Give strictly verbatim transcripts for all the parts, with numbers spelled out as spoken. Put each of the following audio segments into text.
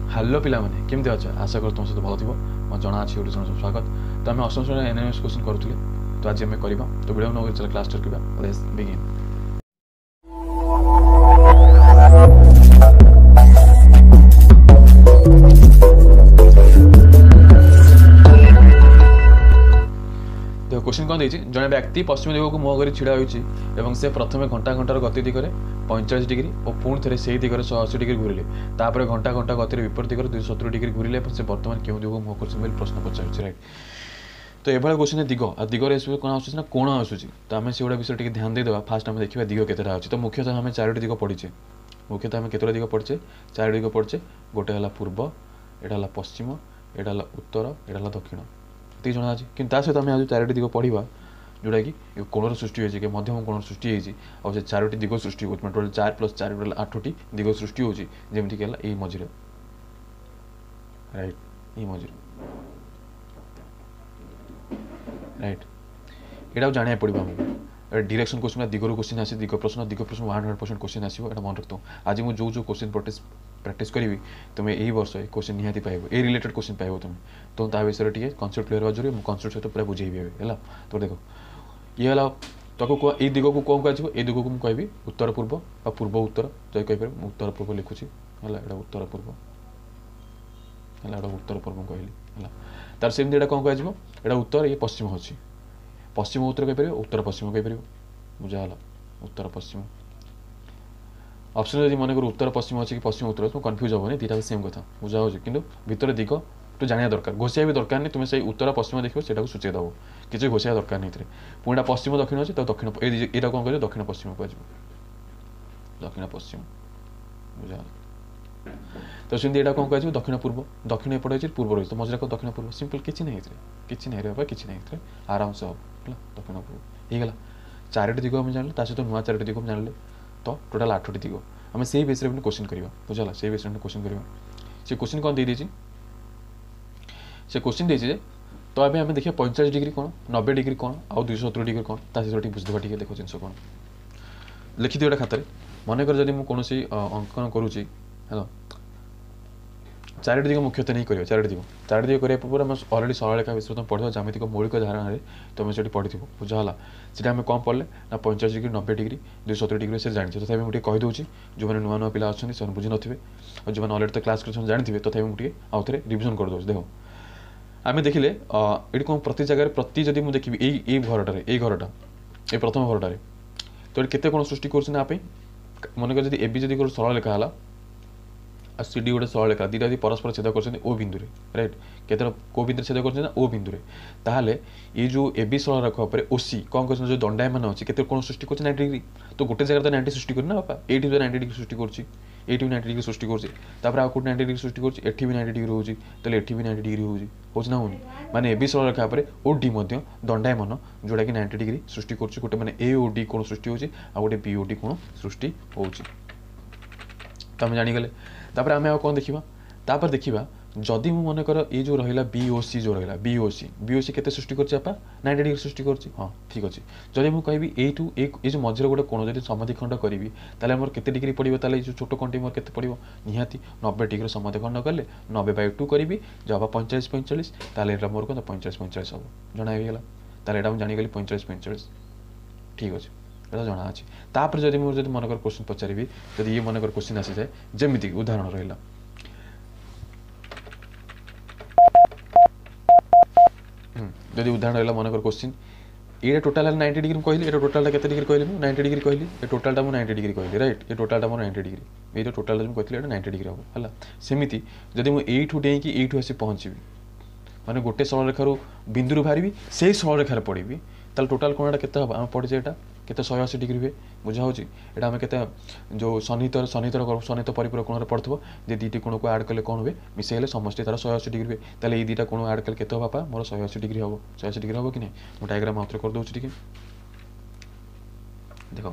Hello ପିଲାମାନେ, କେମିତି ଅଛ? ଆଶା କରୁ ତୁମ ସହିତ ଭଲ ଥିବ। ମୋ ଜଣା ଅଛି ୟୁଟ୍ୟୁବ୍ ଚ୍ୟାନେଲ୍ ସ୍ୱାଗତ। ତ ଆମେ ଅଷ୍ଟମ ଶ୍ରେଣୀର ଏନ୍ ଏନ୍ ଏସ୍ କୋଶ୍ଚିନ୍ କରୁଥିଲେ, ତ ଆଜି ଆମେ କରିବା। ତ ଭିଡ଼ିଓ ନ ଚାଲ କ୍ଲାସ୍ କରିବା। Let's begin. ଦେଖ, କୋଶ୍ଚିନ୍ କ'ଣ ଦେଇଛି? ଜଣେ ବ୍ୟକ୍ତି ପଶ୍ଚିମ ଦିଗକୁ ମୁହଁ କରି ଛିଡ଼ା ହୋଇଛି ଏବଂ ସେ ପ୍ରଥମେ ଘଣ୍ଟା ଘଣ୍ଟାର ଗତି ଦିଗରେ ପଇଁଚାଳିଶ ଡିଗ୍ରୀ ଓ ପୁଣି ଥରେ ସେଇ ଦିଗରେ ଶହେ ଅଶୀ ଡିଗ୍ରୀ ଘୁରିଲେ, ତାପରେ ଘଣ୍ଟା ଘଣ୍ଟା ଗତିରେ ବିପରୀତ ଦିଗରେ ଦୁଇଶହ ସତୁରି ଡିଗ୍ରୀ ଘୁରିଲେ ଏବଂ ସେ ବର୍ତ୍ତମାନ କେଉଁ ଦିଗକୁ ମୁହଁ କରୁଛନ୍ତି ବୋଲି ପ୍ରଶ୍ନ ପଚାରୁଛି। ରାଇଟ୍। ତ ଏଭଳିଆ କୋଶ୍ଚିନ୍ ଦିଗ ଆଉ ଦିଗରେ ଏସବୁ କ'ଣ ଆସୁଛି ନା କୋଣ ଆସୁଛି, ତ ଆମେ ସେଗୁଡ଼ା ବିଷୟରେ ଟିକେ ଧ୍ୟାନ ଦେଇଦେବା। ଫାଷ୍ଟ ଆମେ ଦେଖିବା ଦିଗ କେତେଟା ଅଛି। ତ ମୁଖ୍ୟତଃ ଆମେ ଚାରୋଟି ଦିଗ ପଢ଼ିଛେ। ମୁଖ୍ୟତଃ ଆମେ କେତେଟା ଦିଗ ପଢ଼ିଛେ? ଚାରୋଟି ଦିଗ ପଢ଼ିଛେ। ଗୋଟେ ହେଲା ପୂର୍ବ, ଏଇଟା ହେଲା ପଶ୍ଚିମ, ଏଇଟା ହେଲା ଉତ୍ତର, ଏଇଟା ହେଲା ଦକ୍ଷିଣ। ଏତିକି ଜଣା ଅଛି। କିନ୍ତୁ ତା ସହିତ ଆମେ ଆଜି ଚାରୋଟି ଦିଗ ପଢ଼ିବା, ଯେଉଁଟାକି କୋଣର ସୃଷ୍ଟି ହୋଇଛି କି ମଧ୍ୟମ କୋଣର ସୃଷ୍ଟି ହେଇଛି, ଆଉ ସେ ଚାରୋଟି ଦିଗ ସୃଷ୍ଟି ହେଉଛି। ମାନେ ଟୋଟାଲ୍ ଚାରି ପ୍ଲସ୍ ଚାରି, ଟୋଟାଲ୍ ଆଠଟି ଦିଗ ସୃଷ୍ଟି ହେଉଛି, ଯେମିତିକି ହେଲା ଏଇ ମଝିରେ। ରାଇଟ୍, ଏଇ ମଝିରେ। ରାଇଟ୍, ଏଇଟାକୁ ଜାଣିବାକୁ ପଡ଼ିବ ଆମକୁ। ଏଇଟା ଡିରେକ୍ସନ୍ କୋଶ୍ଚିନ୍, ଦିଗରୁ କୋଶ୍ଚିନ୍ ଆସେ। ଦିଗ ପ୍ରଶ୍ନ, ଦିଗ ପ୍ରଶ୍ନ ୱାନ୍ ହଣ୍ଡ୍ରେଡ଼ ପରସେଣ୍ଟ କୋଶ୍ଚିନ୍ ଆସିବ, ଏଇଟା ମନେ ରଖିଥାଉ। ଆଜି ମୁଁ ଯେଉଁ ଯେଉଁ କୋଶ୍ଚିନ୍ ପ୍ରାକ୍ଟିସ୍ ପ୍ରାକ୍ଟିସ୍ କରିବି, ତୁମେ ଏଇ ବର୍ଷ ଏଇ କୋଶ୍ଚିନ୍ ନିହାତି ପାଇବ, ଏଇ ରିଲେଟେଡ୍ କୋଶ୍ଚିନ୍ ପାଇବ ତୁମେ। ତ ତା ବିଷୟରେ ଟିକେ କନସେପ୍ଟ କ୍ଲିୟର ହେବା ଜରୁରୀ। ମୁଁ କନସେପ୍ଟ ସହିତ ପୁରା ବୁଝେଇବି ଏବେ, ହେଲା? ତ ଦେଖ, ଇଏ ହେଲା ତାକୁ କୁହ, ଏଇ ଦିଗକୁ କ'ଣ କୁହାଯିବ? ଏଇ ଦିଗକୁ ମୁଁ କହିବି ଉତ୍ତର ପୂର୍ବ ବା ପୂର୍ବ ଉତ୍ତର ଯଦି କହିପାରିବ। ମୁଁ ଉତ୍ତର ପୂର୍ବ ଲେଖୁଛି, ହେଲା? ଏଇଟା ଉତ୍ତର ପୂର୍ବ ହେଲା, ଏଇଟା ଉତ୍ତର ପୂର୍ବ ମୁଁ କହିଲି, ହେଲା? ତାର ସେମିତି ଏଇଟା କ'ଣ କୁହାଯିବ? ଏଇଟା ଉତ୍ତର, ଇଏ ପଶ୍ଚିମ ଅଛି। ପଶ୍ଚିମ ଉତ୍ତର କହିପାରିବ, ଉତ୍ତର ପଶ୍ଚିମ କହିପାରିବ। ବୁଝା ହେଲା? ଉତ୍ତର ପଶ୍ଚିମ ଅପସନ୍ ଯଦି ମନେକର ଉତ୍ତର ପଶ୍ଚିମ ଅଛି କି ପଶ୍ଚିମ ଉତ୍ତର ଅଛି, ତୁମେ କନଫ୍ୟୁଜ୍ ହେବନି, ଦୁଇଟା ସେମ୍ କଥା, ବୁଝା ହେଉଛି? କିନ୍ତୁ ଭିତରେ ଦିଗ ତ ଜାଣିବା ଦରକାର, ଘୋଷିବା ବି ଦରକାର ନାହିଁ। ତୁମେ ସେଇ ଉତ୍ତର ପଶ୍ଚିମ ଦେଖିବ, ସେଇଟାକୁ ସୂଚେଇ ଦେବ, କିଛି ଘୋଷିବା ଦରକାର ନାହିଁ ଏଥିରେ। ପୁଣି ଏଇଟା ପଶ୍ଚିମ ଦକ୍ଷିଣ ଅଛି, ତ ଦକ୍ଷିଣ ଏଇଟା କ'ଣ କହିବ? ଦକ୍ଷିଣ ପଶ୍ଚିମ କୁହାଯିବ, ଦକ୍ଷିଣ ପଶ୍ଚିମ। ବୁଝା ହେଲା? ତ ସେମିତି ଏଇଟା କ'ଣ କୁହାଯିବ? ଦକ୍ଷିଣ ପୂର୍ବ। ଦକ୍ଷିଣ ଏପଟେ ଅଛି, ପୂର୍ବ ରହିଛି, ତ ମଝିରେ କ'ଣ? ଦକ୍ଷିଣ ପୂର୍ବ। ସିମ୍ପଲ୍, କିଛି ନାହିଁ ଏଥିରେ, କିଛି ନାହିଁ ରେ ବାବା, କିଛି ନାହିଁ ଏଥିରେ, ଆରାମସେ ହେବ, ହେଲା? ଦକ୍ଷିଣ ପୂର୍ବ ହେଇଗଲା। ଚାରୋଟି ଦିଗ ଆମେ ଜାଣିଲେ, ତା ସହିତ ନୂଆ ଚାରୋଟି ଦିଗ ଆମେ ଜାଣିଲେ, ତ ଟୋଟାଲ୍ ଆଠଟି ଦିଗ। ଆମେ ସେଇ ବେସ୍ରେ ପୁଣି କୋଶ୍ଚିନ୍ କରିବା, ବୁଝିଲା? ସେଇ ବେସ୍ରେ ପୁଣି କୋଶ୍ଚିନ୍ କରିବା। ସେ କୋଶ୍ଚିନ୍ କ'ଣ ଦେଇଦେଇଛି? ସେ କୋଶ୍ଚିନ୍ ଦେଇଛି ଯେ, ତ ଏବେ ଆମେ ଦେଖିବା ପଇଁଚାଳିଶ ଡିଗ୍ରୀ କ'ଣ, ନବେ ଡିଗ୍ରୀ କ'ଣ, ଆଉ ଦୁଇଶହ ସତୁରି ଡିଗ୍ରୀ କ'ଣ, ତା ସହିତ ଟିକେ ବୁଝିଦେବା ଟିକେ। ଦେଖ, ଜିନିଷ କ'ଣ ଲେଖିଦିଅ ଗୋଟେ ଖାତାରେ। ମନେକର ଯଦି ମୁଁ କୌଣସି ଅଙ୍କନ କରୁଛି, ହେଲା? ଚାରୋଟି ଦିଗ ମୁଖ୍ୟତଃ ନେଇ କରିବା। ଚାରୋଟି ଦିଗ, ଚାରୋଟି ଦିଗ କରିବା ପୂର୍ବରୁ ଆମେ ଅଲରେଡ଼ି ସରଳରେଖା ବିଷୟରେ ତୁମେ ପଢ଼ିବ। ଜ୍ୟାମିତିକ ମୌଳିକ ଧାରଣାରେ ତୁମେ ସେଠି ପଢ଼ିଥିବ, ବୁଝା ହେଲା? ସେଠି ଆମେ କ'ଣ ପଢ଼ିଲେ ନା ପଇଁଚାଳିଶ ଡିଗ୍ରୀ, ନବେ ଡିଗ୍ରୀ, ଦୁଇଶହ ସତୁରି ଡିଗ୍ରୀ, ସେ ଜାଣିଛେ। ତଥାପି ମୁଁ ଟିକେ କହିଦେଉଛି, ଯେଉଁମାନେ ନୂଆ ନୂଆ ପିଲା ଅଛନ୍ତି ସେମାନେ ବୁଝିନଥିବେ, ଆଉ ଯେଉଁମାନେ ଅଲରେଡ଼ି ତ କ୍ଲାସ୍ କରିଛନ୍ତି ଜାଣିଥିବେ, ତଥାପି ମୁଁ ଟିକେ ଆଉ ଥରେ ରିଭିଜନ୍ କରିଦେଉଛି। ଦେଖ, ଆମେ ଦେଖିଲେ ଏଠି କ'ଣ ପ୍ରତି ଜାଗାରେ ପ୍ରତି ଯଦି ମୁଁ ଦେଖିବି ଏଇ ଏଇ ଘରଟାରେ, ଏଇ ଘରଟା, ଏଇ ପ୍ରଥମ ଘରଟାରେ, ତ ଏଠି କେତେ କ'ଣ ସୃଷ୍ଟି କରୁଛି ନା ପାଇଁ? ମନେକର ଯଦି ଏ ବି ଯଦି ଗୋଟେ ସରଳ ଲେଖା ହେଲା ଆଉ ସି ଡି ଗୋଟେ ସରଳ ଲେଖା, ଦୁଇଟା ଯଦି ପରସ୍ପର ଛେଦ କରୁଛନ୍ତି ଓ ବିନ୍ଦୁରେ, ରାଇଟ୍? କେତେଟା କେଉଁ ବିନ୍ଦୁରେ ଛେଦ କରୁଛନ୍ତି ନା ଓ ବିନ୍ଦୁରେ। ତାହେଲେ ଏଇ ଯେଉଁ ଏ ବି ସରଳ ରେଖା ଉପରେ ଓ ସି କ'ଣ କରୁଛନ୍ତି? ଯେଉଁ ଦଣ୍ଡାୟମାନ ଅଛି, କେତେ କ'ଣ ସୃଷ୍ଟି କରୁଛି? Ninety degree. ତ ଗୋଟେ ଜାଗାରେ ତ ନାଇଣ୍ଟି ସୃଷ୍ଟି କରୁନି ନା ବାପା। ଏଇଠି ବି ନାଇଣ୍ଟି ଡିଗ୍ରୀ ସୃଷ୍ଟି କରୁଛି, ଏଇଠି ବି ନାଇଣ୍ଟି ଡିଗ୍ରୀ ସୃଷ୍ଟି କରୁଛି, ତାପରେ ଆଉ କେଉଁଠି ନାଇଣ୍ଟି ଡିଗ୍ରୀ ସୃଷ୍ଟି କରୁଛି? ଏଠି ବି ନାଇଣ୍ଟି ଡିଗ୍ରୀ ହେଉଛି, ତାହେଲେ ଏଠି ବି ନାଇଣ୍ଟି ଡିଗ୍ରୀ ହେଉଛି। ହେଉଛି ନା ହେଉନି? ମାନେ ଏ ବି ସରଳ ରେଖା ଉପରେ ଓ ଡି ମଧ୍ୟ ଦଣ୍ଡାୟମାନ, ଯେଉଁଟାକି ନାଇଣ୍ଟି ଡିଗ୍ରୀ ସୃଷ୍ଟି କରୁଛି। ଗୋଟେ ମାନେ ଏ ଓ ଡି କୋଣ ସୃଷ୍ଟି ହେଉଛି, ଆଉ ଗୋଟେ ବି ଓ ଡି କୋଣ ସୃଷ୍ଟି ହେଉଛି। ତ ଆମେ ଜାଣିଗଲେ। ତାପରେ ଆମେ ଆଉ କ'ଣ ଦେଖିବା? ତାପରେ ଦେଖିବା, ଯଦି ମୁଁ ମନେକର ଏଇ ଯେଉଁ ରହିଲା ବି ଓ ସି, ଯେଉଁ ରହିଲା ବି ଓ ସି, ବି ଓ ସି କେତେ ସୃଷ୍ଟି କରୁଛି ବାପା? ନାଇଣ୍ଟି ଡିଗ୍ରୀ ସୃଷ୍ଟି କରୁଛି। ହଁ, ଠିକ୍ ଅଛି। ଯଦି ମୁଁ କହିବି ଏଇଠୁ ଏଇ ଏଇ ଯେଉଁ ମଝିରେ ଗୋଟେ କୋଣ ଯଦି ସମାଧିଖଣ୍ଡ କରିବି, ତାହେଲେ ଆମର କେତେ ଡିଗ୍ରୀ ପଡ଼ିବ? ତାହେଲେ ଏଇ ଯେଉଁ ଛୋଟ କୋଣଟି ମୋର କେତେ ପଡ଼ିବ? ନିହାତି ନବେ ଡିଗ୍ରୀ ସମାଧିଖଣ୍ଡ କଲେ ନବେ ବାଇ ଟୁ କରିବି, ଯାହା ପଇଁଚାଳିଶ ପଇଁଚାଳିଶ, ତାହେଲେ ଏଇଟା ମୋର କ'ଣ ପଇଁଚାଳିଶ ପଇଁଚାଳିଶ ହେବ। ଜଣା ହେଇଗଲା? ତାହେଲେ ଏଇଟା ମୁଁ ଜାଣିଗଲି ପଇଁଚାଳିଶ ପଇଁଚାଳିଶ। ଠିକ୍ ଅଛି, ଏଇଟା ଜଣା ଅଛି। ତାପରେ ଯଦି ମୁଁ ଯଦି ମନେକର କୋଶ୍ଚିନ୍ ପଚାରିବି, ଯଦି ଇଏ ମନେକର କୋଶ୍ଚିନ୍ ଆସିଯାଏ, ଯେମିତିକି ଉଦାହରଣ ରହିଲା, ଯଦି ଉଦାହରଣ ରହିଲା ମନେକର କୋଶ୍ଚିନ୍, ଏଇଟା ଟୋଟାଲ୍ ହେଲା ନାଇଣ୍ଟି ଡିଗ୍ରୀ ମୁଁ କହିଲି। ଏଇଟା ଟୋଟାଲଟା କେତେ ଡିଗ୍ରୀ କହିଲି ମୁଁ? ନାଇଣ୍ଟି ଡିଗ୍ରୀ କହିଲି। ଏ ଟୋଟାଲଟା ମୁଁ ନାଇଣ୍ଟି ଡିଗ୍ରୀ କହିଲି, ରାଇଟ୍? ଏ ଟୋଟାଲଟା ମୋର ନାଇଣ୍ଟି ଡିଗ୍ରୀ। ଏଇ ଯେଉଁ ଟୋଟାଲଟା ମୁଁ କହିଥିଲି, ଏଇଟା ନାଇଣ୍ଟି ଡିଗ୍ରୀ ହେବ, ହେଲା? ସେମିତି ଯଦି ମୁଁ ଏଇଠୁ ଡେଇଁକି ଏଇଠୁ ଆସି ପହଞ୍ଚିବି, ମାନେ ଗୋଟେ ସରଳରେଖାରୁ ବିନ୍ଦୁରୁ ବାହାରିବି, ସେଇ ସରଳରେଖାରେ ପଡ଼ିବି, ତାହେଲେ ଟୋଟାଲ୍ କୋଣଟା କେତେ ହେବ? ଆମେ ପଢ଼ିଛେ ଏଇଟା କେତେ? ଶହେ ଅଶୀ ଡିଗ୍ରୀ ହୁଏ। ବୁଝା ହେଉଛି? ଏଇଟା ଆମେ କେତେ ଯେଉଁ ସନ୍ନିହିତ ସନ୍ନିହିତ ସନ୍ନିହିତ ପରିପୂରକ କୋଣରେ ପଢ଼ୁଥିବ ଯେ ଦୁଇଟି କୋଣକୁ ଆଡ଼୍ କଲେ କ'ଣ ହୁଏ? ମିଶାଇଲେ ସମଷ୍ଟି ତାର ଶହେ ଅଶୀ ଡିଗ୍ରୀ ହୁଏ। ତାହେଲେ ଏଇ ଦୁଇଟା କୋଣ ଆଡ଼୍ କଲେ କେତେ ହେବ ବାପା? ମୋର ଶହେ ଅଶୀ ଡିଗ୍ରୀ ହେବ। ଶହେ ଅଶୀ ଡିଗ୍ରୀ ହେବ କି ନାହିଁ? ମୁଁ ଡାଇଗ୍ରାମ୍ ଆଉଥରେ କରିଦେଉଛି, ଟିକେ ଦେଖ।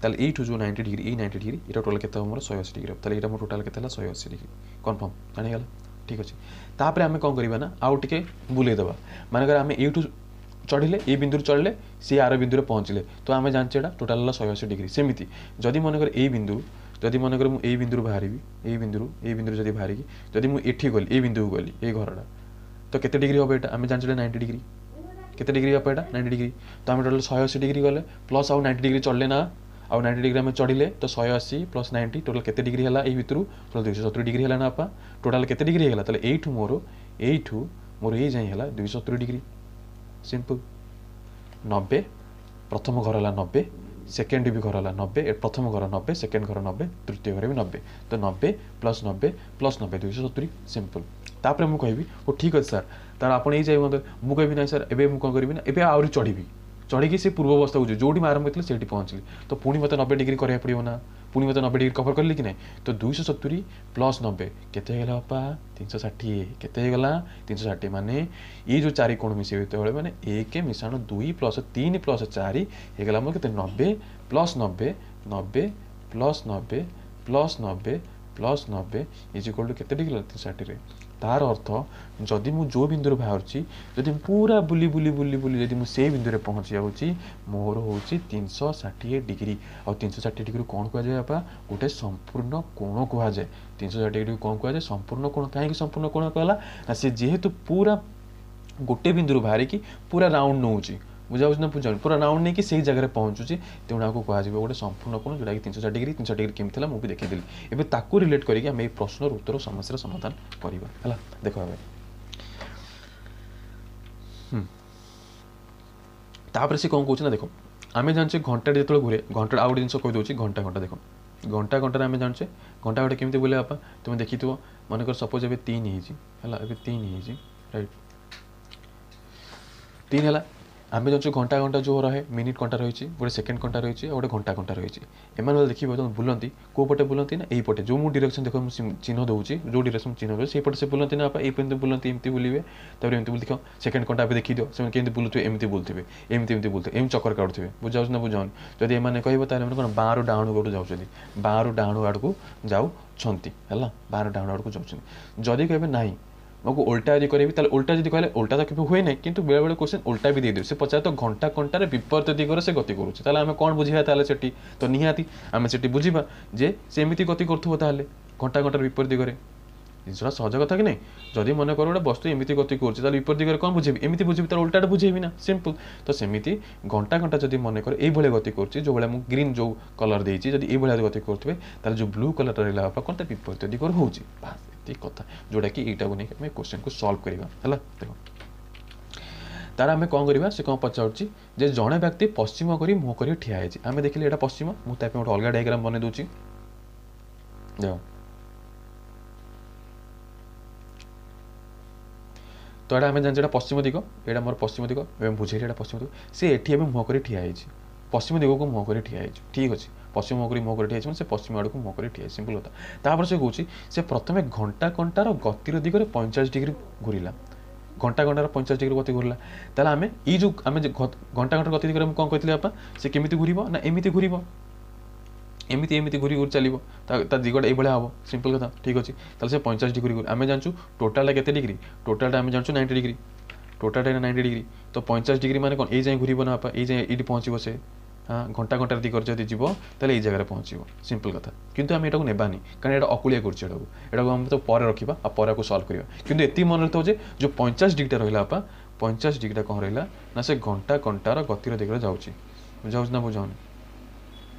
ତାହେଲେ ଏଇଠୁ ଯେଉଁ ନାଇଣ୍ଟି ଡିଗ୍ରୀ, ଏଇ ନାଇଣ୍ଟି ଡିଗ୍ରୀ, ଏଇଟା ଟୋଟାଲ୍ କେତେ ହେବ? ମୋର ଶହେ ଅଶୀ ଡିଗ୍ରୀ ହେବ। ତାହେଲେ ଏଇଟା ମୋର ଟୋଟାଲ୍ କେତେ ହେଲା? ଶହେ ଅଶୀ ଡିଗ୍ରୀ। କନଫର୍ମ ଜାଣିଗଲା? ଠିକ୍ ଅଛି। ତାପରେ ଆମେ କ'ଣ କରିବା ନା ଆଉ ଟିକେ ବୁଲେଇ ଦେବା। ମନେକର ଆମେ ଏଇଠୁ ଚଢ଼ିଲେ ଏଇ ବିନ୍ଦୁରୁ ଚଢ଼ିଲେ ସିଏ ଆର ବିନ୍ଦୁରେ ପହଞ୍ଚିଲେ ତ ଆମେ ଜାଣିଛେ ଏଇଟା ଟୋଟାଲ୍ ହେଲା ଶହେ ଅଶୀ ଡିଗ୍ରୀ ସେମିତି ଯଦି ମନେକର ଏଇ ବିନ୍ଦୁ ଯଦି ମନେକର ମୁଁ ଏଇ ବିନ୍ଦୁରୁ ବାହାରିବି ଏଇ ବିନ୍ଦୁରୁ ଏଇ ବିନ୍ଦୁରୁ ଯଦି ବାହାରିକି ଯଦି ମୁଁ ଏଠି ଗଲି ଏଇ ବିନ୍ଦୁକୁ ଗଲି ଏଇ ଘରଟା ତ କେତେ ଡିଗ୍ରୀ ହେବ ଏଇଟା ଆମେ ଜାଣିଛେ ନାଇଣ୍ଟି ଡିଗ୍ରୀ କେତେ ଡିଗ୍ରୀ ହେବ ଏଇଟା ନାଇଣ୍ଟି ଡିଗ୍ରୀ ତ ଆମେ ଟୋଟାଲ୍ ଶହେ ଅଶୀ ଡିଗ୍ରୀ ଗଲେ ପ୍ଲସ୍ ଆଉ ନାଇଣ୍ଟି ଡିଗ୍ରୀ ଚଢ଼ିଲେ ନା ଆଉ ନାଇଣ୍ଟି ଡିଗ୍ରୀ ଆମେ ଚଢ଼ିଲେ ତ ଶହେ ଅଶୀ ପ୍ଲସ୍ ନାଇଣ୍ଟି ଟୋଟାଲ୍ କେତେ ଡିଗ୍ରୀ ହେଲା ଏଇ ଭିତରୁ ଟୋଟାଲ୍ ଦୁଇଶହ ସତୁରି ଡିଗ୍ରୀ ହେଲା ନା ବାପା ଟୋଟାଲ୍ କେତେ ଡିଗ୍ରୀ ହେଇଗଲା ତାହେଲେ ଏଇଠୁ ମୋର ଏଇଠୁ ମୋର ଏଇ ଯାଏଁ ହେଲା ଦୁଇଶହ ସତୁରି ଡିଗ୍ରୀ ସିମ୍ପଲ୍ ନବେ ପ୍ରଥମ ଘର ହେଲା ନବେ ସେକେଣ୍ଡ ବି ଘର ହେଲା ନବେ ପ୍ରଥମ ଘର ନବେ ସେକେଣ୍ଡ ଘର ନବେ ତୃତୀୟ ଘର ବି ନବେ ତ ନବେ ପ୍ଲସ୍ ନବେ ପ୍ଲସ୍ ନବେ ଦୁଇଶହ ସତୁରି ସିମ୍ପଲ୍ ତାପରେ ମୁଁ କହିବି ଓ ଠିକ୍ ଅଛି ସାର୍ ତାର ଆପଣ ଏଇ ଯାଇ ମୁଁ କହିବି ନାଇଁ ସାର୍ ଏବେ ମୁଁ କ'ଣ କରିବି ନା ଏବେ ଆହୁରି ଚଢ଼ିବି ଚଢ଼ିକି ସେ ପୂର୍ବ ଅବସ୍ଥାକୁ ଯିବି ଯେଉଁଠି ମୁଁ ଆରମ୍ଭ କରିଥିଲି ସେଇଠି ପହଞ୍ଚିଲି ତ ପୁଣି ମୋତେ ନବେ ଡିଗ୍ରୀ କରିବାକୁ ପଡ଼ିବ ନା ପୁଣି ମୋତେ ନବେ ଡିଗ୍ରୀ କଭର କଲି କି ନାହିଁ ତ ଦୁଇଶହ ସତୁରି ପ୍ଲସ୍ ନବେ କେତେ ହେଇଗଲା ବାପା ତିନିଶହ ଷାଠିଏ କେତେ ହେଇଗଲା ତିନିଶହ ଷାଠିଏ ମାନେ ଏଇ ଯେଉଁ ଚାରି କୋଣ ମିଶେଇବେ ଯେତେବେଳେ ମାନେ ଏକ ମିଶାଣ ଦୁଇ ପ୍ଲସ୍ ତିନି ପ୍ଲସ୍ ଚାରି ହେଇଗଲା ମୋର କେତେ ନବେ ପ୍ଲସ୍ ନବେ ନବେ ପ୍ଲସ୍ ନବେ ପ୍ଲସ୍ ନବେ ପ୍ଲସ୍ ନବେ is equal to କେତେ ଡିଗ୍ରୀ ତିନିଶହ ଷାଠିଏ ତାର ଅର୍ଥ ଯଦି ମୁଁ ଯେଉଁ ବିନ୍ଦୁରୁ ବାହାରୁଛି ଯଦି ମୁଁ ପୁରା ବୁଲି ବୁଲି ବୁଲି ବୁଲି ଯଦି ମୁଁ ସେଇ ବିନ୍ଦୁରେ ପହଞ୍ଚି ଯାଉଛି ମୋର ହେଉଛି ତିନିଶହ ଷାଠିଏ ଡିଗ୍ରୀ ଆଉ ତିନିଶହ ଷାଠିଏ ଡିଗ୍ରୀ କ'ଣ କୁହାଯାଏ ବାପା ଗୋଟେ ସମ୍ପୂର୍ଣ୍ଣ କୋଣ କୁହାଯାଏ ତିନିଶହ ଷାଠିଏ ଡିଗ୍ରୀ କ'ଣ କୁହାଯାଏ ସମ୍ପୂର୍ଣ୍ଣ କୋଣ କାହିଁକି ସମ୍ପୂର୍ଣ୍ଣ କୋଣ କୁହାଗଲା ନା ସେ ଯେହେତୁ ପୁରା ଗୋଟେ ବିନ୍ଦୁରୁ ବାହାରିକି ପୁରା ରାଉଣ୍ଡ ନେଉଛି ବୁଝାଉଛି ନା ବୁଝାଉନି ପୁରା ରାଉଣ୍ଡ ନେଇକି ସେଇ ଜାଗାରେ ପହଞ୍ଚୁଛି ତେଣୁ ଆକୁ କୁହାଯିବ ଗୋଟେ ସମ୍ପୂର୍ଣ୍ଣ କୋଣ ଯେଉଁଟାକି ତିନିଶହ ଷାଠିଏ ଡିଗ୍ରୀ ତିନିଶହ ଡିଗ୍ରୀ କେମିତି ଥିଲା ମୁଁ ବି ଦେଖେଇଦେଲି ଏବେ ତାକୁ ରିଲେଟ୍ କରିକି ଆମେ ଏଇ ପ୍ରଶ୍ନର ଉତ୍ତର ସମସ୍ୟାର ସମାଧାନ କରିବା ହେଲା ଦେଖ ଏବେ ତାପରେ ସେ କ'ଣ କହୁଛି ନା ଦେଖ ଆମେ ଜାଣିଛେ ଘଣ୍ଟାଟେ ଯେତେବେଳେ ଘୁରେ ଘଣ୍ଟା ଆଉ ଗୋଟେ ଜିନିଷ କହିଦେଉଛି ଘଣ୍ଟା ଘଣ୍ଟା ଦେଖ ଘଣ୍ଟା ଘଣ୍ଟାରେ ଆମେ ଜାଣିଛେ ଘଣ୍ଟା ଘଣ୍ଟା କେମିତି ବୁଲେ ବାପା ତୁମେ ଦେଖିଥିବ ମନେକର ସପୋଜ୍ ଏବେ ତିନି ହେଇଛି ହେଲା ଏବେ ତିନି ହେଇଛି ରାଇଟ୍ ତିନି ହେଲା ଆମେ ଜାଣିଛୁ ଘଣ୍ଟା ଘଣ୍ଟା ଯେଉଁ ରହେ ମିନିଟ୍ ଘଣ୍ଟା ରହିଛି ଗୋଟେ ସେକେଣ୍ଡ ଘଣ୍ଟା ରହିଛି ଆଉ ଗୋଟେ ଘଣ୍ଟା ଘଣ୍ଟା ରହିଛି ଏମାନେ ଦେଖିବ ଯେତେବେଳେ ବୁଲନ୍ତି କେଉଁ ପଟେ ବୁଲନ୍ତି ନା ଏଇପଟେ ଯେଉଁ ମୁଁ ଡିରେକ୍ସନ୍ ଦେଖ ମୁଁ ଚିହ୍ନ ଦେଉଛି ଯେଉଁ ଡିରେକ୍ସନ୍ ଚିହ୍ନ ଦେଉଛି ସେଇପଟେ ସେ ବୁଲନ୍ତି ନା ବାପା ଏଇ ବୁଲନ୍ତି ଏମିତି ବୁଲିବେ ତାପରେ ଏମିତି ବୁଲି ଦେଖ ସେକେଣ୍ଡ ଘଣ୍ଟା ଏବେ ଦେଖିଦିଅ ସେମାନେ କେମିତି ବୁଲୁଥିବେ ଏମିତି ବୁଲୁଥିବେ ଏମିତି ଏମିତି ବୁଲୁଥିବେ ଏମିତି ଚକର କାଟୁଥିବେ ବୁଝାଉଛି ନା ବୁଝାଉନି ଯଦି ଏମାନେ କହିବ ତାହେଲେ ଏମାନେ କ'ଣ ବାଁରୁ ଡାହାଣୁ ଆଡ଼କୁ ଯାଉଛନ୍ତି ବାଁରୁ ଡାହାଣୁ ଆଡ଼କୁ ଯାଉଛନ୍ତି ହେଲା ବାଁରୁ ଡାହାଣୁ ଆଡ଼କୁ ଯାଉଛନ୍ତି ଯଦି କହିବେ ନାହିଁ ମୁଁ ଓଲଟା ଯଦି କରିବି ତାହେଲେ ଓଲଟା ଯଦି କହିଲେ ଓଲଟା ତ କେବେ ହୁଏ ନାହିଁ କିନ୍ତୁ ବେଳେବେଳେ କୋଶ୍ଚିନ୍ ଓଲଟା ବି ଦେଇଦେବେ ସେ ପଚାରେ ତ ଘଣ୍ଟା ଘଣ୍ଟାରେ ବିପରୀତ ଦିଗରେ ସେ ଗତି କରୁଛି ତାହେଲେ ଆମେ କ'ଣ ବୁଝିବା ତାହେଲେ ସେଠି ତ ନିହାତି ଆମେ ସେଠି ବୁଝିବା ଯେ ସେ ଏମିତି ଗତି କରୁଥିବ ତାହେଲେ ଘଣ୍ଟା ଘଣ୍ଟାର ବିପରୀତ ଦିଗରେ ଜିନିଷଟା ସହଜ କଥା କି ନାହିଁ ଯଦି ମନେ କର ଗୋଟେ ବସ୍ତୁ ଏମିତି ଗତି କରୁଛି ତାହେଲେ ବିପରୀତ ଦିଗରେ କ'ଣ ବୁଝେଇବି ଏମିତି ବୁଝିବି ତାହେଲେ ଓଲଟାଟା ବୁଝେଇବି ନା ସିମ୍ପଲ୍ ତ ସେମିତି ଘଣ୍ଟା ଘଣ୍ଟା ଯଦି ମନେ କର ଏଇଭଳିଆ ଗତି କରୁଛି ଯେଉଁଭଳିଆ ମୁଁ ଗ୍ରୀନ୍ ଯେଉଁ କଲର୍ ଦେଇଛି ଯଦି ଏଇଭଳିଆ ଗତି କରୁଥିବେ ତାହେଲେ ଯେଉଁ ବ୍ଲୁ କଲର୍ଟା ରହିଲା ବାପା କ'ଣ ତା ବିପରୀତ ଦିଗରେ ହେଉଛି ବାସ୍ ଏତିକି କଥା ଯେଉଁଟାକି ଏଇଟାକୁ ନେଇକି ଆମେ କୋଶ୍ଚିନ୍କୁ ସଲ୍ଭ କରିବା ହେଲା ଦେଖ ତାର ଆମେ କ'ଣ କରିବା ସେ କ'ଣ ପଚାରୁଛି ଯେ ଜଣେ ବ୍ୟକ୍ତି ପଶ୍ଚିମ କରି ମୁହଁ କରି ଠିଆ ହେଇଛି ଆମେ ଦେଖିଲେ ଏଇଟା ପଶ୍ଚିମ ମୁଁ ତା ପାଇଁ ଗୋଟେ ଅଲଗା ଡାଇଗ୍ରାମ ବନେଇ ଦେଉଛି ଦେଖ ତ ଏଇଟା ଆମେ ଜାଣିଛେ ଏଇଟା ପଶ୍ଚିମ ଦିଗ ଏଇଟା ମୋର ପଶ୍ଚିମ ଦିଗ ଏବେ ବୁଝେଇଲି ଏଇଟା ପଶ୍ଚିମ ଦିଗ ସେ ଏଠି ଏବେ ମୁହଁ କରି ଠିଆ ହେଇଛି ପଶ୍ଚିମ ଦିଗକୁ ମୁହଁ କରି ଠିଆ ହେଇଛି ଠିକ୍ ଅଛି ପଶ୍ଚିମ ମୁହଁ କରି ମୁହଁ କରି ଠିଆ ହେଇଛି ମାନେ ସେ ପଶ୍ଚିମ ଆଡ଼କୁ ମୁହଁ କରି ଠିଆ ହେଇଛି ସିମ୍ପଲ୍ କଥା ତାପରେ ସେ କହୁଛି ସେ ପ୍ରଥମେ ଘଣ୍ଟା ଘଣ୍ଟାର ଗତିର ଦିଗରେ ପଇଁଚାଳିଶ ଡିଗ୍ରୀ ଘୁରିଲା ଘଣ୍ଟା ଘଣ୍ଟାର ପଇଁଚାଳିଶ ଡିଗ୍ରୀ ଗତି ଘୁରିଲା ତାହେଲେ ଆମେ ଏଇ ଯେଉଁ ଆମେ ଘଣ୍ଟା ଘଣ୍ଟାର ଗତି ଦିଗରେ ମୁଁ କ'ଣ କହିଥିଲି ବାପା ସେ କେମିତି ଘୁରିବ ନା ଏମିତି ଘୁରିବ ଏମିତି ଏମିତି ଘୁରି ଘୁରି ଚାଲିବ ତା ତା ଦିଗଟା ଏଇଭଳିଆ ହେବ ସିମ୍ପଲ୍ କଥା ଠିକ୍ ଅଛି ତାହେଲେ ସେ ପଇଁଚାଳିଶ ଡିଗ୍ରୀ ଘୁରି ଆମେ ଜାଣିଛୁ ଟୋଟାଲଟା କେତେ ଡିଗ୍ରୀ ଟୋଟାଲଟା ଆମେ ଜାଣିଛୁ ନାଇଣ୍ଟି ଡିଗ୍ରୀ ଟୋଟାଲଟା ଏଇଟା ନାଇଣ୍ଟି ଡିଗ୍ରୀ ତ ପଇଁଚାଳିଶ ଡିଗ୍ରୀ ମାନେ କ'ଣ ଏଇ ଯାଏଁ ଘୁରିବ ନା ବାପା ଏଇ ଯାଏଁ ଏଇଠି ପହଞ୍ଚିବ ସେ ହଁ ଘଣ୍ଟା ଘଣ୍ଟାର ଦିଗରେ ଯଦି ଯିବ ତାହେଲେ ଏଇ ଜାଗାରେ ପହଞ୍ଚିବ ସିମ୍ପଲ୍ କଥା କିନ୍ତୁ ଆମେ ଏଟାକୁ ନେବାନି କାରଣ ଏଇଟା ଅକୁଳିଆ କରୁଛି ଏଟାକୁ ଏଟାକୁ ଆମେ ତ ପରେ ରଖିବା ଆଉ ପରେ ଆକୁ ସଲ୍ଭ କରିବା କିନ୍ତୁ ଏତିକି ମନେ ରଖିଥାଉ ଯେ ଯେଉଁ ପଇଁଚାଳିଶ ଡିଗ୍ରୀଟା ରହିଲା ବାପା ପଇଁଚାଳିଶ ଡିଗ୍ରୀଟା କ'ଣ ରହିଲା ନା ସେ ଘଣ୍ଟା ଘଣ୍ଟାର ଗତିର ଦିଗରେ ଯାଉଛି ବୁଝାଉଛି ନା ବୁଝାଉନି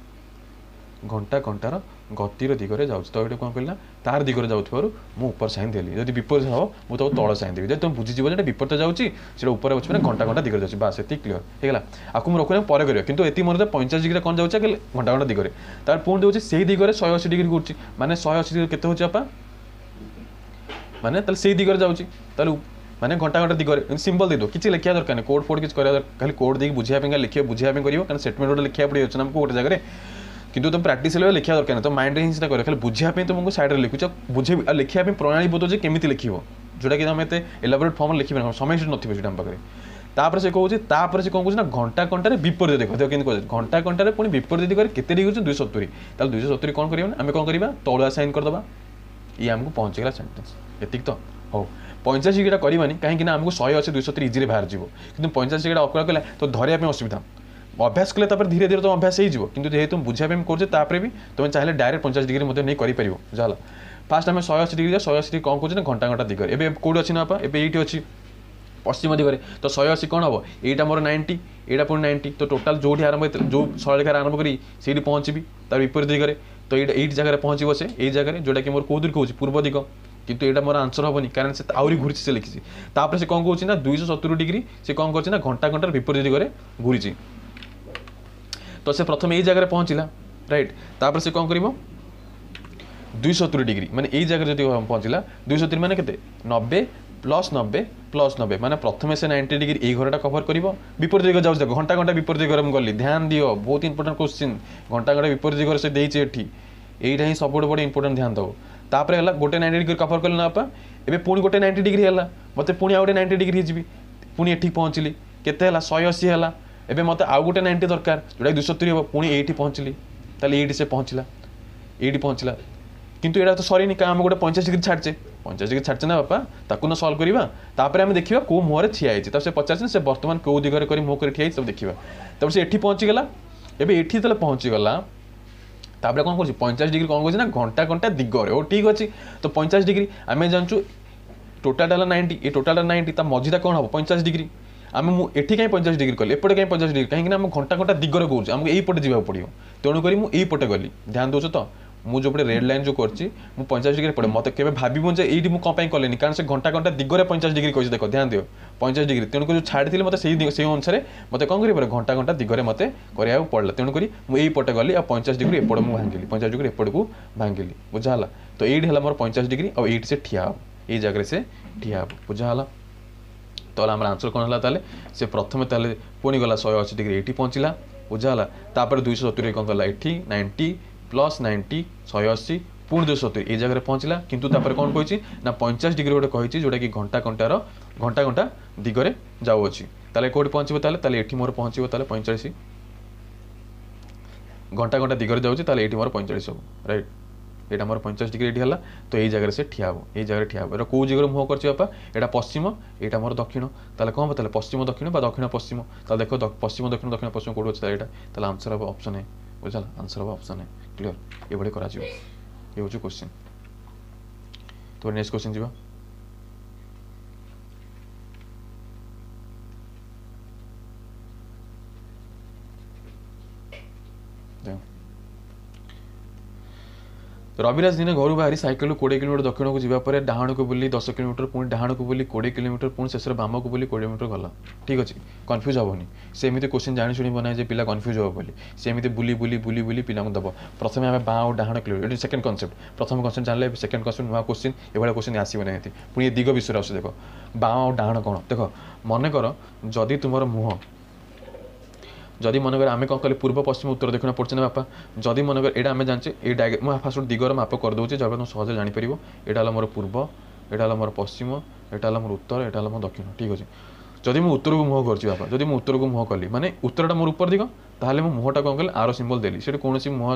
ଘଣ୍ଟା ଘଣ୍ଟାର ଗତିର ଦିଗରେ ଯାଉଛି ତ ଏଇଟା କ'ଣ କହିଲା ତାର ଦିଗରେ ଯାଉଥିବାରୁ ମୁଁ ଉପର ସାଇନ୍ ଦେଲି ଯଦି ବିପରୀତ ହେବ ମୁଁ ତାକୁ ତଳ ସାଇନ୍ ଦେବି ଯଦି ତୁମେ ବୁଝିଯିବ ଯେ ଏଇଟା ବିପରୀତ ଯାଉଛି ସେଇଟା ଉପରେ ଅଛି ମାନେ ଘଣ୍ଟା ଘଣ୍ଟା ଦିଗରେ ଯାଉଛି ବାସ୍ ଏତିକି କ୍ଲିୟର ହେଇଗଲା ଆକୁ ମୁଁ ରଖୁନି ପରେ କରିବା କିନ୍ତୁ ଏତିକି ମନେ ପଇଁଚାଳିଶ ଡିଗ୍ରୀରେ କ'ଣ ଯାଉଛି ଘଣ୍ଟା ଘଣ୍ଟା ଦିଗରେ ତାର ପୁଣି ଦେଉଛି ସେଇ ଦିଗରେ ଶହେ ଅଶୀ ଡିଗ୍ରୀ ଘୁରୁଛି ମାନେ ଶହେ ଅଶୀ ଡିଗ୍ରୀ କେତେ ହେଉଛି ବାପା ମାନେ ତାହେଲେ ସେଇ ଦିଗରେ ଯାଉଛି ତାହେଲେ ମାନେ ଘଣ୍ଟା ଘଣ୍ଟା ଦିଗରେ ସିମ୍ପଲ୍ ଦେଇଦେବ କିଛି ଲେଖିବା ଦରକାର ନାହିଁ କୋଡ୍ ଫୋଡ୍ କିଛି କରିବା ଦରକାର ଖାଲି କୋଡ୍ ଦେଇକି ବୁଝିବା ପାଇଁ ଲେଖିବ ବୁଝିବା ପାଇଁ କରିବ କାରଣ ଷ୍ଟେଟମେଣ୍ଟ ଗୋଟେ ଲେଖିବାକୁ ପଡ଼ିଯାଉଛି ନା ଆମକୁ ଗୋଟେ ଜାଗାରେ କିନ୍ତୁ ତୁମେ ପ୍ରାକ୍ଟିସ୍ ହେଲେ ଲେଖିବା ଦରକାର ନାହିଁ ତ ମାଇଣ୍ଡରେ ହିଁ ସେଟା କରିବ ଖାଲି ବୁଝିବା ପାଇଁ ତୁମକୁ ସାଇଡ଼୍ରେ ଲେଖୁଛ ବୁଝେଇ ଆଉ ଲେଖିବା ପାଇଁ ପ୍ରଣାଳୀ ବୋଧ ଯେ କେମିତି ଲେଖିବ ଯେଉଁଟାକି ଆମେ ଏତେ ଏଲାବୋରେଟ୍ ଫର୍ମରେ ଲେଖିପାରିବ ସମୟ ସେଠି ନଥିବ ସେଟା ଆମ ପାଖରେ ତାପରେ ସେ କହୁଛି ତାପରେ ସେ କ'ଣ କହୁଛି ନା ଘଣ୍ଟା ଘଣ୍ଟାରେ ବିପରୀତ ଦିଗ ଦେଖ କେମିତି କହୁଛି ଘଣ୍ଟା ଘଣ୍ଟାରେ ପୁଣି ବିପରୀତ ଦିଗରେ କେତେ ଡିଗ୍ରୀ ହେଉଛି ଦୁଇଶହ ସତୁରି ତାହେଲେ ଦୁଇଶହ ସତୁରି କ'ଣ କରିବା ନା ଆମେ କ'ଣ କରିବା ତଳୁଆ ସାଇନ୍ କରିଦେବା ଇଏ ଆମକୁ ପହଞ୍ଚିଗଲା ସେଣ୍ଟେନ୍ସ ଏତିକି ତ ହଉ ପଇଁଚାଳିଶ ଡିଗ୍ରୀଟା କରିବାନି କାହିଁକି ନା ଆମକୁ ଶହେ ଅଶୀ ଦୁଇଶହ ସତୁରି ଇଜିରେ ବାହାରିଯିବ କିନ୍ତୁ ପଇଁଚାଳିଶ ଡିଗ୍ରୀଟା ଅପ୍ କଲେ ତ ଧରିବା ପାଇଁ ଅସୁବିଧା ଅଭ୍ୟାସ କଲେ ତାପରେ ଧୀରେ ଧୀରେ ତୁମ ଅଭ୍ୟାସ ହେଇଯିବ କିନ୍ତୁ ଯେହେତୁ ବୁଝିବା ପାଇଁ କରୁଛେ ତାପରେ ବି ତୁମେ ଚାହିଁଲେ ଡାଇରେକ୍ଟ ପଇଁଚାଳିଶ ଡିଗ୍ରୀ ମଧ୍ୟ ନେଇ କରିପାରିବ ବୁଝାହେଲା ଫାଷ୍ଟ ଆମେ ଶହେ ଅଶୀ ଡିଗ୍ରୀ ଶହେ ଅଶୀ ଡିଗ୍ରୀ କ'ଣ କହୁଛେ ନା ଘଣ୍ଟା ଘଣ୍ଟା ଦିଗରେ ଏବେ କେଉଁଠି ଅଛି ନା ବାପା ଏବେ ଏଇଠି ଅଛି ପଶ୍ଚିମ ଦିଗରେ ତ ଶହେ ଅଶୀ କ'ଣ ହେବ ଏଇଟା ମୋର ନାଇଣ୍ଟି ଏଇଟା ପୁଣି ନାଇଣ୍ଟି ତ ଟୋଟାଲ୍ ଯେଉଁଠି ଆରମ୍ଭ ଯେଉଁ ସରଳରେଖାରେ ଆରମ୍ଭ କରି ସେଇଠି ପହଞ୍ଚିବି ତାର ବିପରୀତ ଦିଗରେ ତ ଏଇଟା ଏଇଠି ଜାଗାରେ ପହଞ୍ଚିବ ସେ ଏଇ ଜାଗାରେ ଯେଉଁଟାକି ମୋର କେଉଁ ଦିଗ କହୁଛି ପୂର୍ବ ଦିଗ କିନ୍ତୁ ଏଇଟା ମୋର ଆନ୍ସର ହେବନି କାରଣ ସେ ଆହୁରି ଘୁରିଛି ସେ ଲେଖିଛି ତାପରେ ସେ କ'ଣ କହୁଛି ନା ଦୁଇଶହ ସତୁରି ଡିଗ୍ରୀ ସେ କ'ଣ କରୁଛି ନା ଘଣ୍ଟା ଘଣ୍ଟାର ବିପରୀତ ଦିଗରେ ଘୁରିଛି ତ ସେ ପ୍ରଥମେ ଏଇ ଜାଗାରେ ପହଞ୍ଚିଲା ରାଇଟ୍ ତାପରେ ସେ କ'ଣ କରିବ ଦୁଇଶହ ସତୁରି ଡିଗ୍ରୀ ମାନେ ଏଇ ଜାଗାରେ ଯଦି ପହଞ୍ଚିଲା ଦୁଇଶହ ସତୁରି ମାନେ କେତେ ନବେ ପ୍ଲସ୍ ନବେ ପ୍ଲସ୍ ନବେ ମାନେ ପ୍ରଥମେ ସେ ନାଇଣ୍ଟି ଡିଗ୍ରୀ ଏଇ ଘରଟା କଭର କରିବ ବିପରୀତ ଦିଗ ଯାଉଛି ଦେଖ ଘଣ୍ଟା ଘଣ୍ଟା ବିପରୀତ ଦିଗରେ ମୁଁ ଗଲି ଧ୍ୟାନ ଦିଅ ବହୁତ ଇମ୍ପୋର୍ଟାଣ୍ଟ କୋଶ୍ଚିନ୍ ଘଣ୍ଟା ଘଣ୍ଟା ବିପରୀତ ଦିଗରେ ସେ ଦେଇଛି ଏଠି ଏଇଟା ହିଁ ସବୁଠୁ ବଡ଼ ଇମ୍ପୋର୍ଟାଣ୍ଟ ଧ୍ୟାନ ଦେବ ତାପରେ ହେଲା ଗୋଟେ ନାଇଣ୍ଟି ଡିଗ୍ରୀ କଭର କଲି ନା ବାପା ଏବେ ପୁଣି ଗୋଟେ ନାଇଣ୍ଟି ଡିଗ୍ରୀ ହେଲା ମୋତେ ପୁଣି ଆଉ ଗୋଟେ ନାଇଣ୍ଟି ଡିଗ୍ରୀ ହେଇଯିବି ପୁଣି ଏଠି ପହଞ୍ଚିଲି କେତେ ହେଲା ଶହେ ଅଶୀ ହେଲା ଏବେ ମୋତେ ଆଉ ଗୋଟେ ନାଇଣ୍ଟି ଦରକାର ଯେଉଁଟାକି ଦୁଇଶହ ସତୁରି ହେବ ପୁଣି ଏଇଠି ପହଞ୍ଚିଲି ତାହେଲେ ଏଇଠି ସେ ପହଞ୍ଚିଲା ଏଇଠି ପହଞ୍ଚିଲା କିନ୍ତୁ ଏଇଟା ତ ସରିନି କାରଣ ଆମେ ଗୋଟେ ପଇଁଚାଳିଶ ଡିଗ୍ରୀ ଛାଡ଼ିଛେ ପଇଁଚାଳିଶ ଡିଗ୍ରୀ ଛାଡ଼ିଛେ ନା ବାପା ତାକୁ ନା ସଲ୍ଭ କରିବା ତାପରେ ଆମେ ଦେଖିବା କେଉଁ ମୁହଁରେ ଠିଆ ହେଇଛି ତାପରେ ସେ ପଚାରିଛି ସେ ବର୍ତ୍ତମାନ କେଉଁ ଦିଗରେ କରି ମୁହଁ କରି ଠିଆ ହେଇଛି ସବୁ ଦେଖିବା ତାପରେ ସେ ଏଠି ପହଞ୍ଚିଗଲା ଏବେ ଏଠି ଯେତେବେଳେ ପହଞ୍ଚିଗଲା ତାପରେ କ'ଣ କରୁଛି ପଇଁଚାଳିଶ ଡିଗ୍ରୀ କ'ଣ କରୁଛି ନା ଘଣ୍ଟା ଘଣ୍ଟା ଦିଗରେ ହଉ ଠିକ୍ ଅଛି ତ ପଇଁଚାଳିଶ ଡିଗ୍ରୀ ଆମେ ଜାଣିଛୁ ଟୋଟାଲଟା ହେଲା ନାଇଣ୍ଟି ଏ ଟୋଟାଲଟା ନାଇଣ୍ଟି ତା ମଝିଟା କ'ଣ ହେବ ପଇଁଚାଳିଶ ଡିଗ୍ରୀ ଆମେ ମୁଁ ଏଠି କାହିଁ ପଇଁଚାଳିଶ ଡିଗ୍ରୀ କଲି ଏପଟେ କାହିଁ ପଇଁଚାଳିଶ ଡିଗ୍ରୀ କାହିଁକିନା ଆମ ଘଣ୍ଟା ଘଣ୍ଟା ଦିଗରେ କହୁଛି ଆମକୁ ଏଇପଟେ ଯିବାକୁ ପଡ଼ିବ ତେଣୁକରି ମୁଁ ଏଇପଟେ ଗଲି ଧ୍ୟାନ ଦେଉଛ ତ ମୁଁ ଯେଉଁପଟେ ରେଡ୍ ଲାଇନ୍ ଯେଉଁ କରିଛି ମୁଁ ପଇଁଚାଳିଶ ଡିଗ୍ରୀ ପଡ଼େ ମୋତେ କେବେ ଭାବିବୁ ଯେ ଏଇଠି ମୁଁ କ'ଣ ପାଇଁ କଲିନି କାରଣ ସେ ଘଣ୍ଟା ଘଣ୍ଟା ଦିଗରେ ପଇଁଚାଳିଶ ଡିଗ୍ରୀ କହିଛି ଦେଖ ଧ୍ୟାନ ଦିଅ ପଇଁଚାଳିଶ ଡିଗ୍ରୀ ତେଣୁକରି ଯେଉଁ ଛାଡ଼ିଥିଲି ମୋତେ ସେଇ ସେଇ ଅନୁସାରେ ମୋତେ କ'ଣ କରିବାକୁ ପଡ଼ିବ ଘଣ୍ଟା ଘଣ୍ଟା ଦିଗରେ ମୋତେ କରିବାକୁ ପଡ଼ିଲା ତେଣୁକରି ମୁଁ ଏଇପଟେ ଗଲି ଆଉ ପଇଁଚାଳିଶ ଡିଗ୍ରୀ ଏପଟେ ମୁଁ ଭାଙ୍ଗିଲି ପଇଁଚାଳିଶ ଡିଗ୍ରୀ ଏପଟକୁ ଭାଙ୍ଗିଲି ବୁଝା ହେଲା ତ ଏଇଠି ହେଲା ମୋର ପଇଁଚାଳିଶ ଡିଗ୍ରୀ ଆଉ ଏଇଠି ସେ ଠିଆ ହେବ ଏଇ ଜାଗାରେ ସେ ଠିଆ ହେବ ବୁଝା ହେଲା ତାହେଲେ ଆମର ଆନ୍ସର କ'ଣ ହେଲା ତାହେଲେ ସେ ପ୍ରଥମେ ତାହେଲେ ପୁଣି ଗଲା ଶହେ ଅଶୀ ଡିଗ୍ରୀ ଏଇଠି ପହଞ୍ଚିଲା ବୁଝା ହେଲା ତାପରେ ଦୁଇଶହ ସତୁରି କ'ଣ କଲା ଏଠି ନାଇଣ୍ଟି ପ୍ଲସ୍ ନାଇଣ୍ଟି ଶହେ ଅଶୀ ପୁଣି ଦୁଇଶହ ସତୁରି ଏଇ ଜାଗାରେ ପହଞ୍ଚିଲା କିନ୍ତୁ ତାପରେ କ'ଣ କହିଛି ନା ପଇଁଚାଳିଶ ଡିଗ୍ରୀ ଗୋଟେ କହିଛି ଯେଉଁଟାକି ଘଣ୍ଟା ଘଣ୍ଟାର ଘଣ୍ଟା ଘଣ୍ଟା ଦିଗରେ ଯାଉଅଛି ତାହେଲେ କେଉଁଠି ପହଞ୍ଚିବ ତାହେଲେ ତାହେଲେ ଏଠି ମୋର ପହଞ୍ଚିବ ତାହେଲେ ପଇଁଚାଳିଶ ଘଣ୍ଟା ଘଣ୍ଟା ଦିଗରେ ଯାଉଛି ତାହେଲେ ଏଇଠି ମୋର ପଇଁଚାଳିଶ ହେବ ରାଇଟ୍ ଏଇଟା ମୋର ପଇଁଚାଳିଶ ଡିଗ୍ରୀ ଏଇଠି ହେଲା ତ ଏଇ ଜାଗାରେ ସେ ଠିଆ ହେବ ଏଇ ଜାଗାରେ ଠିଆ ହେବ ଏଇଟା କେଉଁ ଦିଗରେ ମୁହଁ କରିଛି ବାପା ଏଇଟା ପଶ୍ଚିମ ଏଇଟା ମୋର ଦକ୍ଷିଣ ତାହେଲେ କ'ଣ ହେବ ତାହେଲେ ପଶ୍ଚିମ ଦକ୍ଷିଣ ବା ଦକ୍ଷିଣ ପଶ୍ଚିମ ତାହେଲେ ଦେଖ ପଶ୍ଚିମ ଦକ୍ଷିଣ ଦକ୍ଷିଣ ପଶ୍ଚିମ କେଉଁଠି ଅଛି ତାହେଲେ ଏଇଟା ତାହେଲେ ଆନ୍ସର ହେବ ଅପସନ୍ ଏ ବୁଝିଲା ଆନ୍ସର ହେବ ଅପସନ୍ ଏ କ୍ଲିୟର ଏଭଳି କରାଯିବ ଏ ହେଉଛି କୋଶ୍ଚିନ୍ ତ ନେକ୍ସଟ କୋଶ୍ଚିନ୍ ଯିବା ରବିରାଜ ଦିନେ ଘରୁ ବାହାରି ସାଇକେଲରୁ କୋଡ଼ିଏ କିଲୋମିଟର ଦକ୍ଷିଣକୁ ଯିବା ପରେ ଡାହାଣକୁ ବୁଲି ଦଶ କିଲୋମିଟର ପୁଣି ଡାହାଣକୁ ବୁଲି କୋଡ଼ିଏ କିଲୋମିଟର ପୁଣି ଶେଷରେ ବାମକୁ ବୁଲି କୋଡ଼ିଏ କିଲୋମିଟର ଗଲା ଠିକ୍ ଅଛି କନଫ୍ୟୁଜ୍ ହେବନି ସେ ଏମିତି କୋଶ୍ଚିନ୍ ଜାଣି ଶୁଣି ବନାଏ ଯେ ପିଲା କନଫ୍ୟୁଜ୍ ହେବ ବୋଲି ସେ ଏମିତି ବୁଲି ବୁଲି ବୁଲି ବୁଲି ପିଲାଙ୍କୁ ଦେବ ପ୍ରଥମେ ଆମେ ବାଁ ଆଉ ଡାହାଣ କିଲୋମିଟର ଏଠି ସେକେଣ୍ଡ କନସେପ୍ଟ ପ୍ରଥମ କନସେପ୍ଟ ଜାଣିଲେ ସେକେଣ୍ଡ କନସେପ୍ଟ ନୂଆ କୋଶ୍ଚିନ୍ ଏଭଳିଆ କୋଶ୍ଚିନ୍ ଆସିବ ନାହିଁ ପୁଣି ଏ ଦିଗ ବିଷୟରେ ଆସୁଛି ଦେଖ ବାଁ ଆଉ ଡାହାଣ କ'ଣ ଦେଖ ମନେକର ଯଦି ତୁମର ମୁହଁ ଯଦି ମନେକର ଆମେ କ'ଣ କଲେ ପୂର୍ବ ପଶ୍ଚିମ ଉତ୍ତର ଦକ୍ଷିଣ ପଡ଼ୁଛି ନା ବାପା ଯଦି ମନେକର ଏଇଟା ଆମେ ଜାଣିଛେ ଏଇ ଡାଇଗ୍ରାମ ମୁଁ ଫାଷ୍ଟ ଗୋଟେ ଦିଗର ମାପ କରିଦେଉଛି ଯାହା ତୁମେ ସହଜରେ ଜାଣିପାରିବ ଏଇଟା ହେଲା ମୋର ପୂର୍ବ ଏଇଟା ହେଲା ମୋର ପଶ୍ଚିମ ଏଇଟା ହେଲା ମୋର ଉତ୍ତର ଏଇଟା ହେଲା ମୋର ଦକ୍ଷିଣ ଠିକ୍ ଅଛି ଯଦି ମୁଁ ଉତ୍ତରକୁ ମୁହଁ କରୁଛି ବାପା ଯଦି ମୁଁ ଉତ୍ତରକୁ ମୁହଁ କଲି ମାନେ ଉତ୍ତରଟା ମୋର ଉପର ଦିଗ ତାହେଲେ ମୁଁ ମୁହଁଟା କ'ଣ କଲି ଆର ସିମ୍ବଲ୍ ଦେଲି ସେଠି କୌଣସି ମୁହଁ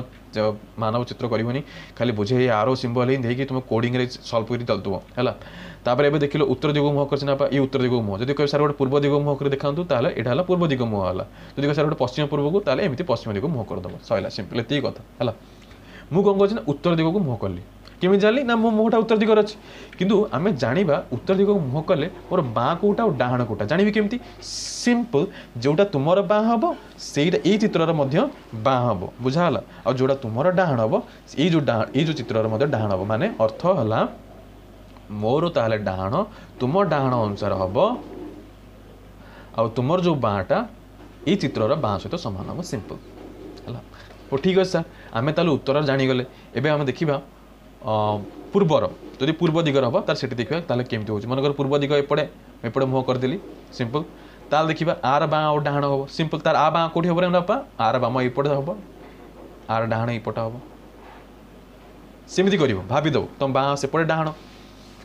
ମାନବ ଚିତ୍ର କରିବନି ଖାଲି ବୁଝେଇ ଆର ସିମ୍ବଲ୍ ହିଁ ଦେଇକି ତୁମେ କୋଡ଼ିଂରେ ସଲ୍ଭ କରି ଚାଲୁଥିବ ହେଲା ତାପରେ ଏବେ ଦେଖିଲ ଉତ୍ତର ଦିଗକୁ ମୁହଁ କରିଛି ନା ବାପା ଏଇ ଉତ୍ତର ଦିଗକୁ ମୁହଁ ଯଦି କହିବେ ସାର୍ ଗୋଟେ ପୂର୍ବ ଦିଗକୁ ମୁହଁ କରି ଦେଖାନ୍ତୁ ତାହେଲେ ଏଇଟା ହେଲା ପୂର୍ବ ଦିଗ ମୁହଁ ହେଲା ଯଦି କହିବେ ସାର୍ ଗୋଟେ ପଶ୍ଚିମ ପୂର୍ବକୁ ତାହେଲେ ଏମିତି ପଶ୍ଚିମ ଦିଗକୁ ମୁହଁ କରିଦେବ ସରିଲା ସିମ୍ପଲ୍ ଏତିକି କଥା ହେଲା ମୁଁ କ'ଣ କରୁଛି ନା ଉତ୍ତର ଦିଗକୁ ମୁହଁ କଲି କେମିତି ଜାଣିଲି ନା ମୋ ମୁହଁଟା ଉତ୍ତର ଦିଗରେ ଅଛି କିନ୍ତୁ ଆମେ ଜାଣିବା ଉତ୍ତର ଦିଗକୁ ମୁହଁ କଲେ ମୋର ବାଁ କେଉଁଟା ଆଉ ଡାହାଣ କେଉଁଟା ଜାଣିବି କେମିତି ସିମ୍ପଲ୍ ଯେଉଁଟା ତୁମର ବାଁ ହେବ ସେଇଟା ଏଇ ଚିତ୍ରର ମଧ୍ୟ ବାଁ ହେବ ବୁଝା ହେଲା ଆଉ ଯେଉଁଟା ତୁମର ଡାହାଣ ହେବ ଏଇ ଯେଉଁ ଡାହାଣ ଏଇ ଯେଉଁ ଚିତ୍ରର ମଧ୍ୟ ଡାହାଣ ହେବ ମାନେ ଅର୍ଥ ହେଲା ମୋର ତାହେଲେ ଡାହାଣ ତୁମ ଡାହାଣ ଅନୁସାରେ ହେବ ଆଉ ତୁମର ଯେଉଁ ବାଁଟା ଏଇ ଚିତ୍ରର ବାଁ ସହିତ ସମାନ ହେବ ସିମ୍ପଲ୍ ହେଲା ହଉ ଠିକ୍ ଅଛି ସାର୍ ଆମେ ତାହେଲେ ଉତ୍ତର ଜାଣିଗଲେ ଏବେ ଆମେ ଦେଖିବା ପୂର୍ବର ଯଦି ପୂର୍ବ ଦିଗରେ ହେବ ତାହେଲେ ସେଠି ଦେଖିବା ତାହେଲେ କେମିତି ହେଉଛି ମନେକର ପୂର୍ବ ଦିଗ ଏପଟେ ଏପଟେ ମୁହଁ କରିଦେଲି ସିମ୍ପଲ୍ ତାହେଲେ ଦେଖିବା ଆର ବାଁ ଆଉ ଡାହାଣ ହେବ ସିମ୍ପଲ୍ ତାର ଆ ବାଁ କେଉଁଠି ହେବ ରେ ବାପା ଆର ବାମ ଏଇପଟେ ହେବ ଆର ଡାହାଣ ଏଇପଟେ ହେବ ସେମିତି କରିବ ଭାବିଦେବ ତୁମ ବାଁ ସେପଟେ ଡାହାଣ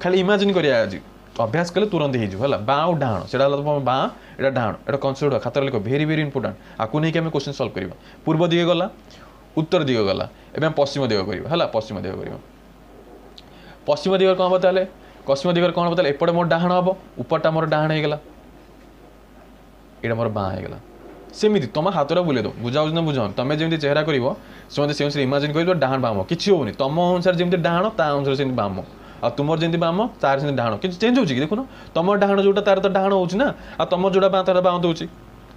ଖାଲି ଇମାଜିନ୍ କରିବା ଆଜି ଅଭ୍ୟାସ କଲେ ତୁରନ୍ତ ହେଇଯିବ ହେଲା ବାଁ ଆଉ ଡାହାଣ ସେଇଟା ହେଲା ତୁମ ବାଁ ଏଇଟା ଡାହାଣ ଏଇଟା କନସେପ୍ଟ ଖାତାରେ ଲେଖ ଭେରି ଭେରି ଇମ୍ପୋର୍ଟାଣ୍ଟ ଆକୁ ନେଇକି ଆମେ କୋଶ୍ଚିନ୍ ସଲ୍ଭ କରିବା ପୂର୍ବ ଦିଗ ଗଲା ଉତ୍ତର ଦିଗ ଗଲା ଏବେ ଆମେ ପଶ୍ଚିମ ଦିଗ କରିବା ହେଲା ପଶ୍ଚିମ ଦିଗ କରିବା ପଶ୍ଚିମ ଦିଗ କ'ଣ ହେବ ତାହେଲେ ପଶ୍ଚିମ ଦିଗରେ କ'ଣ ହେବ ତାହେଲେ ଏପଟେ ମୋର ଡାହାଣ ହେବ ଉପରଟା ମୋର ଡାହାଣ ହେଇଗଲା ଏଇଟା ମୋର ବାଁ ହେଇଗଲା ସେମିତି ତୁମ ହାତଟା ବୁଲେଇ ଦେବ ବୁଝାଉଛି ନା ବୁଝାଉନି ତମେ ଯେମିତି ଚେହେରା କରିବ ସେ ମୋତେ ସେ ଅନୁସାରେ ଇମାଜିନ୍ କରିବ ଡାହାଣ ବାମ କିଛି ହେଉନି ତମ ଅନୁସାରେ ଯେମିତି ଡାହାଣ ତା ଅନୁସାରେ ସେମିତି ବାମ ଆଉ ତୁମର ଯେମିତି ବାମ ତାର ସେମିତି ଡାହାଣ କିଛି ଚେଞ୍ଜ ହେଉଛି କି ଦେଖୁନ ତମର ଡାହାଣ ଯେଉଁଟା ତାର ତ ଡାହାଣ ହେଉଛି ନା ଆଉ ତମର ଯେଉଁଟା ବାଁ ତାର ବାଁ ଦେଉଛି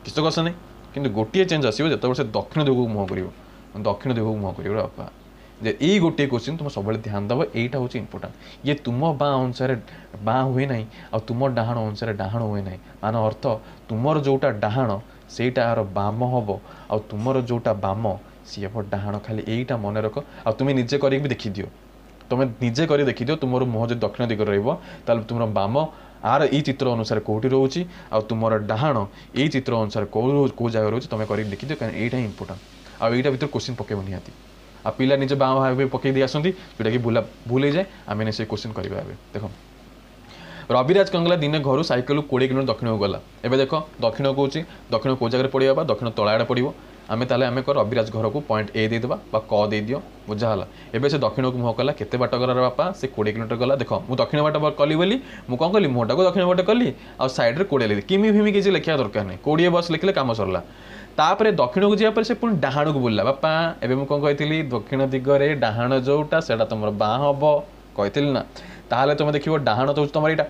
କିଛି ତ କଥା ନାହିଁ କିନ୍ତୁ ଗୋଟିଏ ଚେଞ୍ଜ ଆସିବ ଯେତେବେଳେ ସେ ଦକ୍ଷିଣ ଦିଗକୁ ମୁହଁ କରିବ ଦକ୍ଷିଣ ଦିଗକୁ ମୁହଁ କରିବ ବାପା ଯେ ଏଇ ଗୋଟିଏ କୋଶ୍ଚିନ୍ ତୁମେ ସବୁବେଳେ ଧ୍ୟାନ ଦେବ ଏଇଟା ହେଉଛି ଇମ୍ପୋର୍ଟାଣ୍ଟ ଇଏ ତୁମ ବାଁ ଅନୁସାରେ ବାଁ ହୁଏ ନାହିଁ ଆଉ ତୁମ ଡାହାଣ ଅନୁସାରେ ଡାହାଣ ହୁଏ ନାହିଁ ମାନେ ଅର୍ଥ ତୁମର ଯେଉଁଟା ଡାହାଣ ସେଇଟା ଆର ବାମ ହେବ ଆଉ ତୁମର ଯେଉଁଟା ବାମ ସିଏ ହେବ ଡାହାଣ ଖାଲି ଏଇଟା ମନେ ରଖ ଆଉ ତୁମେ ନିଜେ କରିକି ବି ଦେଖିଦିଅ ତୁମେ ନିଜେ କରି ଦେଖିଦିଅ ତୁମର ମୁହଁ ଯଦି ଦକ୍ଷିଣ ଦିଗରେ ରହିବ ତାହେଲେ ତୁମର ବାମ ଆର ଏଇ ଚିତ୍ର ଅନୁସାରେ କେଉଁଠି ରହୁଛି ଆଉ ତୁମର ଡାହାଣ ଏଇ ଚିତ୍ର ଅନୁସାରେ କେଉଁ କେଉଁ ଜାଗାରେ ରହୁଛି ତୁମେ କରିକି ଦେଖିଦିଅ କାରଣ ଏଇଟା ହିଁ ଇମ୍ପୋର୍ଟାଣ୍ଟ ଆଉ ଏଇଟା ଭିତରେ କୋଶ୍ଚିନ୍ ପକାଇବ ନିହାତି ଆଉ ପିଲା ନିଜ ବାଁ ଭାବେ ପକାଇ ଦେଇ ଆସନ୍ତି ଯେଉଁଟାକି ଭୁଲା ଭୁଲ ହେଇଯାଏ ଆମେ ସେ କୋଶ୍ଚିନ୍ କରିବା ଏବେ ଦେଖ ରବିରାଜ କ'ଣ କଲା ଦିନେ ଘରୁ ସାଇକେଲରୁ କୋଡ଼ିଏ କିଲୋମିଟର ଦକ୍ଷିଣକୁ ଗଲା ଏବେ ଦେଖ ଦକ୍ଷିଣ କହୁଛି ଦକ୍ଷିଣ କେଉଁ ଜାଗାରେ ପଡ଼ିବ ବା ଦକ୍ଷିଣ ତଳ ଆଡ଼େ ପଡ଼ିବ ଆମେ ତାହେଲେ ଆମେ କର ରବିରାଜ ଘରକୁ ପଏଣ୍ଟ ଏ ଦେଇଦେବା ବା କ ଦେଇଦିଅ ବୁଝା ହେଲା ଏବେ ସେ ଦକ୍ଷିଣକୁ ମୁହଁ କଲା କେତେ ବାଟ ଗଲା ବାପା ସେ କୋଡ଼ିଏ କିଲୋମିଟର ଗଲା ଦେଖ ମୁଁ ଦକ୍ଷିଣ ବାଟ କଲି ବୋଲି ମୁଁ କ'ଣ କଲି ମୁହଁଟାକୁ ଦକ୍ଷିଣ ବାଟ କଲି ଆଉ ସାଇଡ଼୍ରେ କୋଡ଼ିଏ ଲେଖିଲି କିମି ଫିମି କିଛି ଲେଖିବା ଦରକାର ନାହିଁ କୋଡ଼ିଏ ବସ୍ ଲେଖିଲେ କାମ ସରିଲା ତାପରେ ଦକ୍ଷିଣକୁ ଯିବା ପରେ ସେ ପୁଣି ଡାହାଣକୁ ବୁଲିଲା ବାପା ଏବେ ମୁଁ କ'ଣ କହିଥିଲି ଦକ୍ଷିଣ ଦିଗରେ ଡାହାଣ ଯେଉଁଟା ସେଇଟା ତୁମର ବାଁ ହେବ କହିଥିଲି ନା ତାହେଲେ ତୁମେ ଦେଖିବ ଡାହାଣ ତ ହେଉଛି ତୁମର ଏଇଟା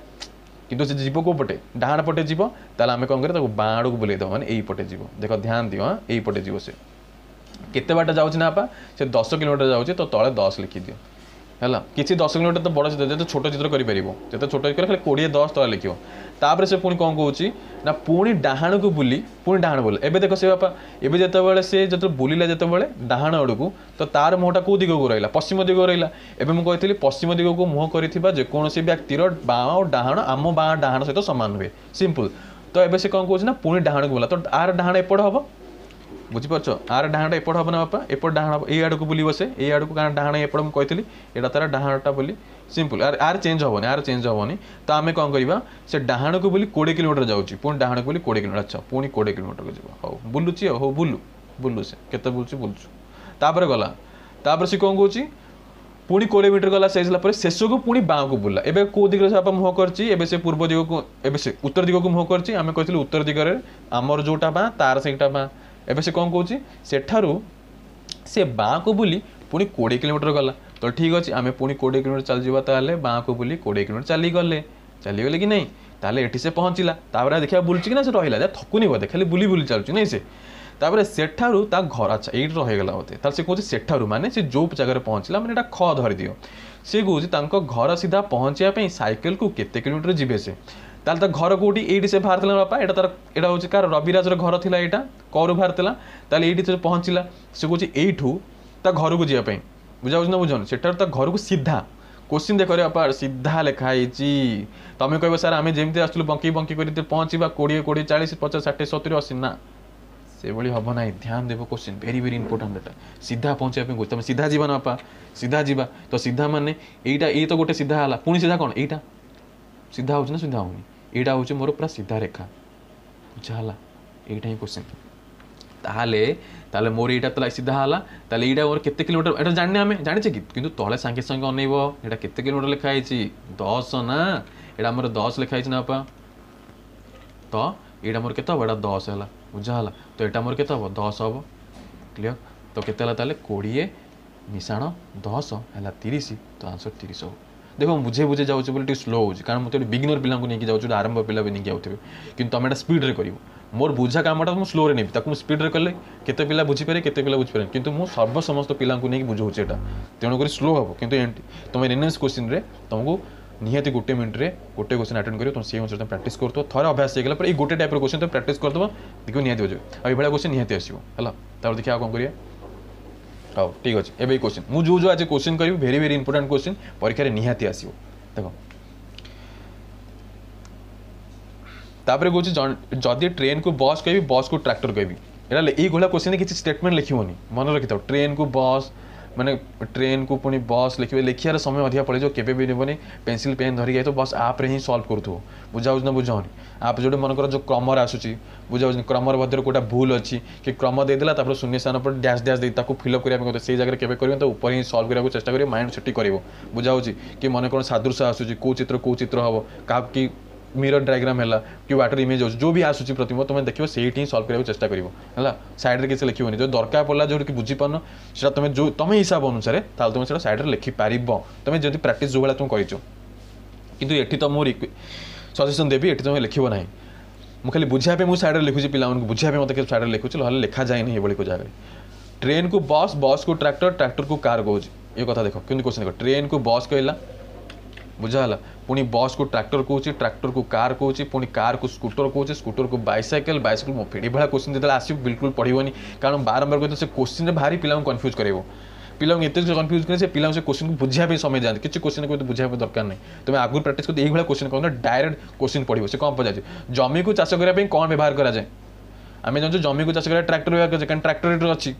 କିନ୍ତୁ ସେ ଯିବ କେଉଁ ପଟେ ଡାହାଣ ପଟେ ଯିବ ତାହେଲେ ଆମେ କ'ଣ କରିବା ତାକୁ ବାଁ ଆଡ଼କୁ ବୁଲେଇ ଦେବା ମାନେ ଏଇପଟେ ଯିବ ଦେଖ ଧ୍ୟାନ ଦିଅ ହଁ ଏଇପଟେ ଯିବ ସେ କେତେ ବାଟ ଯାଉଛି ନା ବାପା ସେ ଦଶ କିଲୋମିଟର ଯାଉଛି ତ ତଳେ ଦଶ ଲେଖିଦିଅ ହେଲା କିଛି ଦଶ କିଲୋମିଟର ତ ବଡ଼ ଚିତ୍ର ଯେତେ ଛୋଟ ଚିତ୍ର କରିପାରିବ ଯେତେ ଛୋଟ ଚିତ୍ର ଖାଲି କୋଡ଼ିଏ ଦଶ ତଳେ ଲେଖିବ ତାପରେ ସେ ପୁଣି କ'ଣ କହୁଛି ନା ପୁଣି ଡାହାଣକୁ ବୁଲି ପୁଣି ଡାହାଣ ବୁଲି ଏବେ ଦେଖ ସେ ବାପା ଏବେ ଯେତେବେଳେ ସେ ଯେତେବେଳେ ବୁଲିଲା ଯେତେବେଳେ ଡାହାଣ ଆଡ଼କୁ ତ ତାର ମୁହଁଟା କେଉଁ ଦିଗକୁ ରହିଲା ପଶ୍ଚିମ ଦିଗକୁ ରହିଲା ଏବେ ମୁଁ କହିଥିଲି ପଶ୍ଚିମ ଦିଗକୁ ମୁହଁ କରିଥିବା ଯେକୌଣସି ବ୍ୟକ୍ତିର ବାଁ ଆଉ ଡାହାଣ ଆମ ବାଁ ଡାହାଣ ସହିତ ସମାନ ହୁଏ ସିମ୍ପଲ୍ ତ ଏବେ ସେ କ'ଣ କହୁଛି ନା ପୁଣି ଡାହାଣକୁ ବୁଲା ତ ଆର ଡାହାଣ ଏପଟ ହେବ ବୁଝିପାରୁଛ ଆର ଡାହାଣଟା ଏପଟ ହେବ ନା ବାପା ଏପଟ ଡାହାଣ ହେବ ଏଇ ଆଡ଼କୁ ବୁଲିବ ସେ ଏଇ ଆଡ଼କୁ କାରଣ ଡାହାଣ ଏପଟ ମୁଁ କହିଥିଲି ଏଇଟା ତାର ଡାହାଣଟା ବୋଲି ସିମ୍ପଲ୍ ଆର ଆର ଚେଞ୍ଜ ହେବନି ଆର ଚେଞ୍ଜ ହେବନି ତ ଆମେ କ'ଣ କରିବା ସେ ଡାହାଣକୁ ବୁଲି କୋଡ଼ିଏ କିଲୋମିଟର ଯାଉଛି ପୁଣି ଡାହାଣକୁ ବୁଲି କୋଡ଼ିଏ କିଲୋମିଟର ଆଚ୍ଛା ପୁଣି କୋଡ଼ିଏ କିଲୋମିଟରକୁ ଯିବ ହଉ ବୁଲୁଛି ଆଉ ହଉ ବୁଲୁ ବୁଲୁ ସେ କେତେ ବୁଲୁଛି ବୁଲୁଛୁ ତାପରେ ଗଲା ତାପରେ ସେ କ'ଣ କହୁଛି ପୁଣି କୋଡ଼ିଏ ମିଟର ଗଲା ସେଇ ହେଲା ପରେ ଶେଷକୁ ପୁଣି ବାଁକୁ ବୁଲିଲା ଏବେ କେଉଁ ଦିଗରେ ସେ ବାପା ମୁହଁ କରିଛି ଏବେ ସେ ପୂର୍ବ ଦିଗକୁ ଏବେ ସେ ଉତ୍ତର ଦିଗକୁ ମୁହଁ କରିଛି ଆମେ କହିଥିଲୁ ଉତ୍ତର ଦିଗରେ ଆମର ଯେଉଁଟା ବାଁ ତାର ସେଇଟା ବାଁ ଏବେ ସେ କ'ଣ କହୁଛି ସେଠାରୁ ସେ ବାଁକୁ ବୁଲି ପୁଣି କୋଡ଼ିଏ କିଲୋମିଟର ଗଲା ତ ଠିକ୍ ଅଛି ଆମେ ପୁଣି କୋଡ଼ିଏ କିଲୋମିଟର ଚାଲିଯିବା ତାହେଲେ ବାଁକୁ ବୁଲି କୋଡ଼ିଏ କିଲୋମିଟର ଚାଲିଗଲେ ଚାଲିଗଲେ କି ନାହିଁ ତାହେଲେ ଏଠି ସେ ପହଞ୍ଚିଲା ତାପରେ ଦେଖିବା ବୁଲୁଛି କି ନା ସେ ରହିଲା ଯା ଥକୁନି ବୋଧେ ଖାଲି ବୁଲି ବୁଲି ଚାଲୁଛି ନାଇଁ ସେ ତାପରେ ସେଠାରୁ ତା ଘର ଆଚ୍ଛା ଏଇଠି ରହିଗଲା ବୋଧେ ତାହେଲେ ସେ କହୁଛି ସେଠାରୁ ମାନେ ସେ ଯେଉଁ ଜାଗାରେ ପହଞ୍ଚିଲା ମାନେ ଏଇଟା ଖ ଧରିଦିଅ ସେ କହୁଛି ତାଙ୍କ ଘର ସିଧା ପହଞ୍ଚିବା ପାଇଁ ସାଇକେଲକୁ କେତେ କିଲୋମିଟର ଯିବେ ସେ ତାହେଲେ ତା ଘର କେଉଁଠି ଏଇଠି ସେ ବାହାରିଥିଲା ବାପା ଏଇଟା ତାର ଏଇଟା ହେଉଛି କାହାର ରବିରାଜର ଘର ଥିଲା ଏଇଟା କରୁ ବାହାରିଥିଲା ତାହେଲେ ଏଇଠି ସେ ପହଞ୍ଚିଲା ସେ କହୁଛି ଏଇଠୁ ତା ଘରକୁ ଯିବା ପାଇଁ ବୁଝାବୁଝି ନା ବୁଝାଉନି ସେଠାରୁ ତା ଘରକୁ ସିଧା କୋଶ୍ଚିନ୍ ଦେଖ ରେ ବାପା ସିଧା ଲେଖା ହେଇଛି ତମେ କହିବ ସାର୍ ଆମେ ଯେମିତି ଆସୁଥିଲୁ ବଙ୍କି ବଙ୍କି କରି ପହଞ୍ଚିବା କୋଡ଼ିଏ କୋଡ଼ିଏ ଚାଳିଶ ପଚାଶ ଷାଠିଏ ସତୁରି ଅଶୀ ନା ସେଭଳି ହେବ ନାହିଁ ଧ୍ୟାନ ଦେବ କୋଶ୍ଚିନ୍ ଭେରି ଭେରି ଇମ୍ପୋର୍ଟାଣ୍ଟ ଏଟା ସିଧା ପହଞ୍ଚିବା ପାଇଁ କହୁଛି ତମେ ସିଧା ଯିବା ନା ବାପା ସିଧା ଯିବା ତ ସିଧା ମାନେ ଏଇଟା ଏଇ ତ ଗୋଟେ ସିଧା ହେଲା ପୁଣି ସିଧା କ'ଣ ଏଇଟା ସିଧା ହେଉଛି ନା ସିଧା ହେଉନି ଏଇଟା ହେଉଛି ମୋର ପୁରା ସିଧା ରେଖା ବୁଝା ହେଲା ଏଇଟା ହିଁ କୋଶ୍ଚିନ୍ ତାହେଲେ ତାହେଲେ ମୋର ଏଇଟା ତ ସିଧା ହେଲା ତାହେଲେ ଏଇଟା ମୋର କେତେ କିଲୋମିଟର ଏଇଟା ଜାଣିନେ ଆମେ ଜାଣିଛେ କି କିନ୍ତୁ ତଳେ ସାଙ୍ଗେ ସାଙ୍ଗେ ଅନେଇବ ଏଇଟା କେତେ କିଲୋମିଟର ଲେଖା ହେଇଛି ଦଶ ନା ଏଇଟା ଆମର ଦଶ ଲେଖା ହେଇଛି ନା ବାପା ତ ଏଇଟା ମୋର କେତେ ହେବ ଏଇଟା ଦଶ ହେଲା ବୁଝା ହେଲା ତ ଏଇଟା ମୋର କେତେ ହେବ ଦଶ ହେବ କ୍ଲିଅର ତ କେତେ ହେଲା ତାହେଲେ କୋଡ଼ିଏ ମିଶାଣ ଦଶ ହେଲା ତିରିଶ ତ ଆନ୍ସର ତିରିଶ ହେବ ଦେଖ ମୁଁ ବୁଝେଇ ବୁଝେଇ ଯାଉଛି ବୋଲି ଟିକେ ସ୍ଲୋ ହେଉଛି କାରଣ ମୁଁ ତ ଏଠି ବିଗିନର ପିଲାଙ୍କୁ ନେଇକି ଯାଉଛି ଗୋଟେ ଆରମ୍ଭ ପିଲା ବି ନେଇକି ଯାଉଥିବେ କିନ୍ତୁ ତମେ ଏଇଟା ସ୍ପିଡ଼ରେ କରିବ ମୋର ବୁଝା କାମଟା ମୁଁ ସ୍ଲୋରେ ନେବି ତାକୁ ମୁଁ ସ୍ପିଡ଼ରେ କଲେ କେତେ ପିଲା ବୁଝିପାରିବେ କେତେ ପିଲା ବୁଝିପାରିବେନି କିନ୍ତୁ ମୁଁ ସର୍ବ ସମସ୍ତ ପିଲାଙ୍କୁ ନେଇକି ବୁଝାଉଛି ଏଇଟା ତେଣୁକରି ସ୍ଲୋ ହେବ କିନ୍ତୁ ତୁମେ ଏନ୍ଏନ୍ଏସ୍ କୋଶ୍ଚିନ୍ରେ ତୁମକୁ ନିହାତି ଗୋଟେ ମିନିଟ୍ରେ ଗୋଟେ କୋଶ୍ଚିନ୍ ଆଟେଣ୍ଡ କରିବ ତୁମେ ସେଇ ଅନୁସାରେ ତୁମେ ପ୍ରାକ୍ଟିସ୍ କରୁଥିବ ଥରେ ଅଭ୍ୟାସ ହେଇଗଲା ପରେ ଏଇ ଗୋଟେ ଟାଇପ୍ର କୋଶ୍ଚିନ୍ ତୁମେ ପ୍ରାକ୍ଟିସ୍ କରିଦେବ ଦେଖିବ ନିହାତି ବୁଝିବ ଆଉ ଏଇଭଳିଆ କୋଶ୍ଚିନ୍ ନିହାତି ଆସିବ ହେଲା ତାପରେ ଦେଖିବା ଆଉ କ'ଣ କରିବା ହଉ ଠିକ୍ ଅଛି ଏବେ ଏଇ କୋଶ୍ଚିନ୍ ମୁଁ ଯେଉଁ ଯେଉଁ ଆଜି କୋଶ୍ଚିନ୍ କରିବି ଭେରି ଭେରି ଇମ୍ପୋର୍ଟାଣ୍ଟ କୋଶ୍ଚିନ୍ ପରୀକ୍ଷାରେ ନିହାତି ଆସିବ ଦେଖ ତାପରେ କହୁଛି ଯଦି ଟ୍ରେନ୍କୁ ବସ୍ କହିବି ବସ୍କୁ ଟ୍ରାକ୍ଟର କହିବି ଏଇଟା ଏଇଭଳିଆ କୋଶ୍ଚିନ୍ କିଛି ଷ୍ଟେଟମେଣ୍ଟ ଲେଖିବନି ମନେ ରଖିଥାଅ ଟ୍ରେନ୍କୁ ବସ୍ ମାନେ ଟ୍ରେନ୍କୁ ପୁଣି ବସ୍ ଲେଖିବେ, ଲେଖିବାର ସମୟ ଅଧିକା ପଳେଇଯିବ, କେବେ ବି ନେବନି। ପେନ୍ସିଲ୍ ପେନ୍ ଧରିକି ଯାଇଥିବ, ବସ୍ ଆପ୍ରେ ହିଁ ସଲ୍ଭ କରୁଥିବ। ବୁଝାଉଛି ନା ବୁଝାଉନି? ଆପ୍ ଯେଉଁଠି ମନେକର ଯେଉଁ କ୍ରମରେ ଆସୁଛି, ବୁଝାଉଛି, କ୍ରମର ମଧ୍ୟରେ କେଉଁଟା ଭୁଲ ଅଛି କି କ୍ରମ ଦେଇଦେଲା, ତାପରେ ଶୂନ୍ୟ ସ୍ଥାନ ପରେ ଡ୍ୟାସ୍ ଡ୍ୟାସ୍ ଦେଇ ତାକୁ ଫିଲ୍ଅପ୍ କରିବା ପାଇଁ କଥା, ସେଇ ଜାଗାରେ କେବେ କରିବନି, ତ ଉପରେ ହିଁ ସଲ୍ଭ କରିବାକୁ ଚେଷ୍ଟା କରିବ, ମାଇଣ୍ଡ ସେଠି କରିବ। ବୁଝାଉଛି କି ମନେ କ'ଣ ସାଦୃଶ୍ୟ ଆସୁଛି, କେଉଁ ଚିତ୍ର କେଉଁ ଚିତ୍ର ହେବ, କାହାକୁ କି ମିରର ଡାଇଗ୍ରାମ ହେଲା କି ୱାଟର ଇମେଜ୍ ହେଉଛି, ଯେଉଁ ବି ଆସୁଛି ପ୍ରତିମ ତୁମେ ଦେଖିବ, ସେଇଠି ହିଁ ସଲ୍ଭ କରିବାକୁ ଚେଷ୍ଟା କରିବ। ହେଲା, ସାଇଡ଼୍ରେ କିଛି ଲେଖିବନି। ଯଦି ଦରକାର ପଡ଼ିଲା, ଯେଉଁଠି ବୁଝିପାରୁନ, ସେଟା ତୁମେ ଯେଉଁ ତୁମେ ହିସାବ ଅନୁସାରେ, ତାହେଲେ ତୁମେ ସେଟା ସାଇଡ଼୍ରେ ଲେଖିପାରିବ, ତୁମେ ଯଦି ପ୍ରାକ୍ଟିସ୍ ଯେଉଁ ଭଳିଆ ତୁମେ କରିଛ। କିନ୍ତୁ ଏଠି ତ ମୁଁ ସଜେସନ୍ ଦେବି, ଏଠି ତୁମେ ଲେଖିବ ନାହିଁ। ମୁଁ ଖାଲି ବୁଝିବା ପାଇଁ ମୁଁ ସାଇଡ଼୍ରେ ଲେଖୁଛି, ପିଲାମାନଙ୍କୁ ବୁଝିବା ପାଇଁ ମୋତେ ସାଇଡ଼୍ରେ ଲେଖୁଛି, ନହେଲେ ଲେଖାଯାଏନି ଏଭଳି କେଉଁ ଜାଗାରେ। ଟ୍ରେନ୍କୁ ବସ୍, ବସ୍କୁ ଟ୍ରାକ୍ଟର, ଟ୍ରାକ୍ଟରକୁ କାର୍ କହୁଛି। ଏ କଥା ଦେଖ କେମିତି କ୍ୱେଶ୍ଚନ୍ ଦେଖ। ଟ୍ରେନ୍କୁ ବସ୍ କହିଲା, ବୁଝା ହେଲା? ପୁଣି ବସ୍କୁ ଟ୍ରାକ୍ଟର କହୁଛି, ଟ୍ରାକ୍ଟରକୁ କାର୍ କହୁଛି, ପୁଣି କାର୍କୁ ସ୍କୁଟର କହୁଛି, ସ୍କୁଟରକୁ ବାଇସାଇକେଲ, ବାଇସାଇକେଲ ମୋପେଡ଼। ଏଭଳିଆ କ୍ୱେଶ୍ଚିନ୍ ଯେତେବେଳେ ଆସିବ, ବିଲକୁଲ ପଢ଼ିବନି। କାରଣ ବାରମ୍ବାର କହିଲେ ସେ କ୍ୱେଶ୍ଚିନ୍ରେ ଭାରି ପିଲାଙ୍କୁ କନଫ୍ୟୁଜ୍ କରାଇବ। ପିଲାଙ୍କୁ ଏତେ କନଫ୍ୟୁଜ୍ କରି ସେ ପିଲାଙ୍କୁ ସେ କ୍ୱେଶ୍ଚିନ୍କୁ ବୁଝିବା ପାଇଁ ସମୟ ଯାଆନ୍ତି। କିଛି କ୍ୱେଶ୍ଚିନ୍ ବୁଝିବା ପାଇଁ ଦରକାର ନାହିଁ, ତୁମେ ଆଗରୁ ପ୍ରାକ୍ଟିସ୍ କରି ଏଇଭଳିଆ କ୍ୱେଶ୍ଚିନ୍ କ'ଣ ଡାଇରେକ୍ଟ କ୍ୱେଶ୍ଚିନ୍ ପଢ଼ିବ। ସେ କ'ଣ ପଚାରୁଛି? ଜମିକୁ ଚାଷ କରିବା ପାଇଁ କ'ଣ ବ୍ୟବହାର କରାଯାଏ? ଆମେ ଜାଣିଛୁ ଜମିକୁ ଚାଷ କରିବା ଟ୍ରାକ୍ଟର ବ୍ୟବହାର କରାଯାଏ, କାରଣ ଟ୍ରାକ୍ଟର ଅଛି।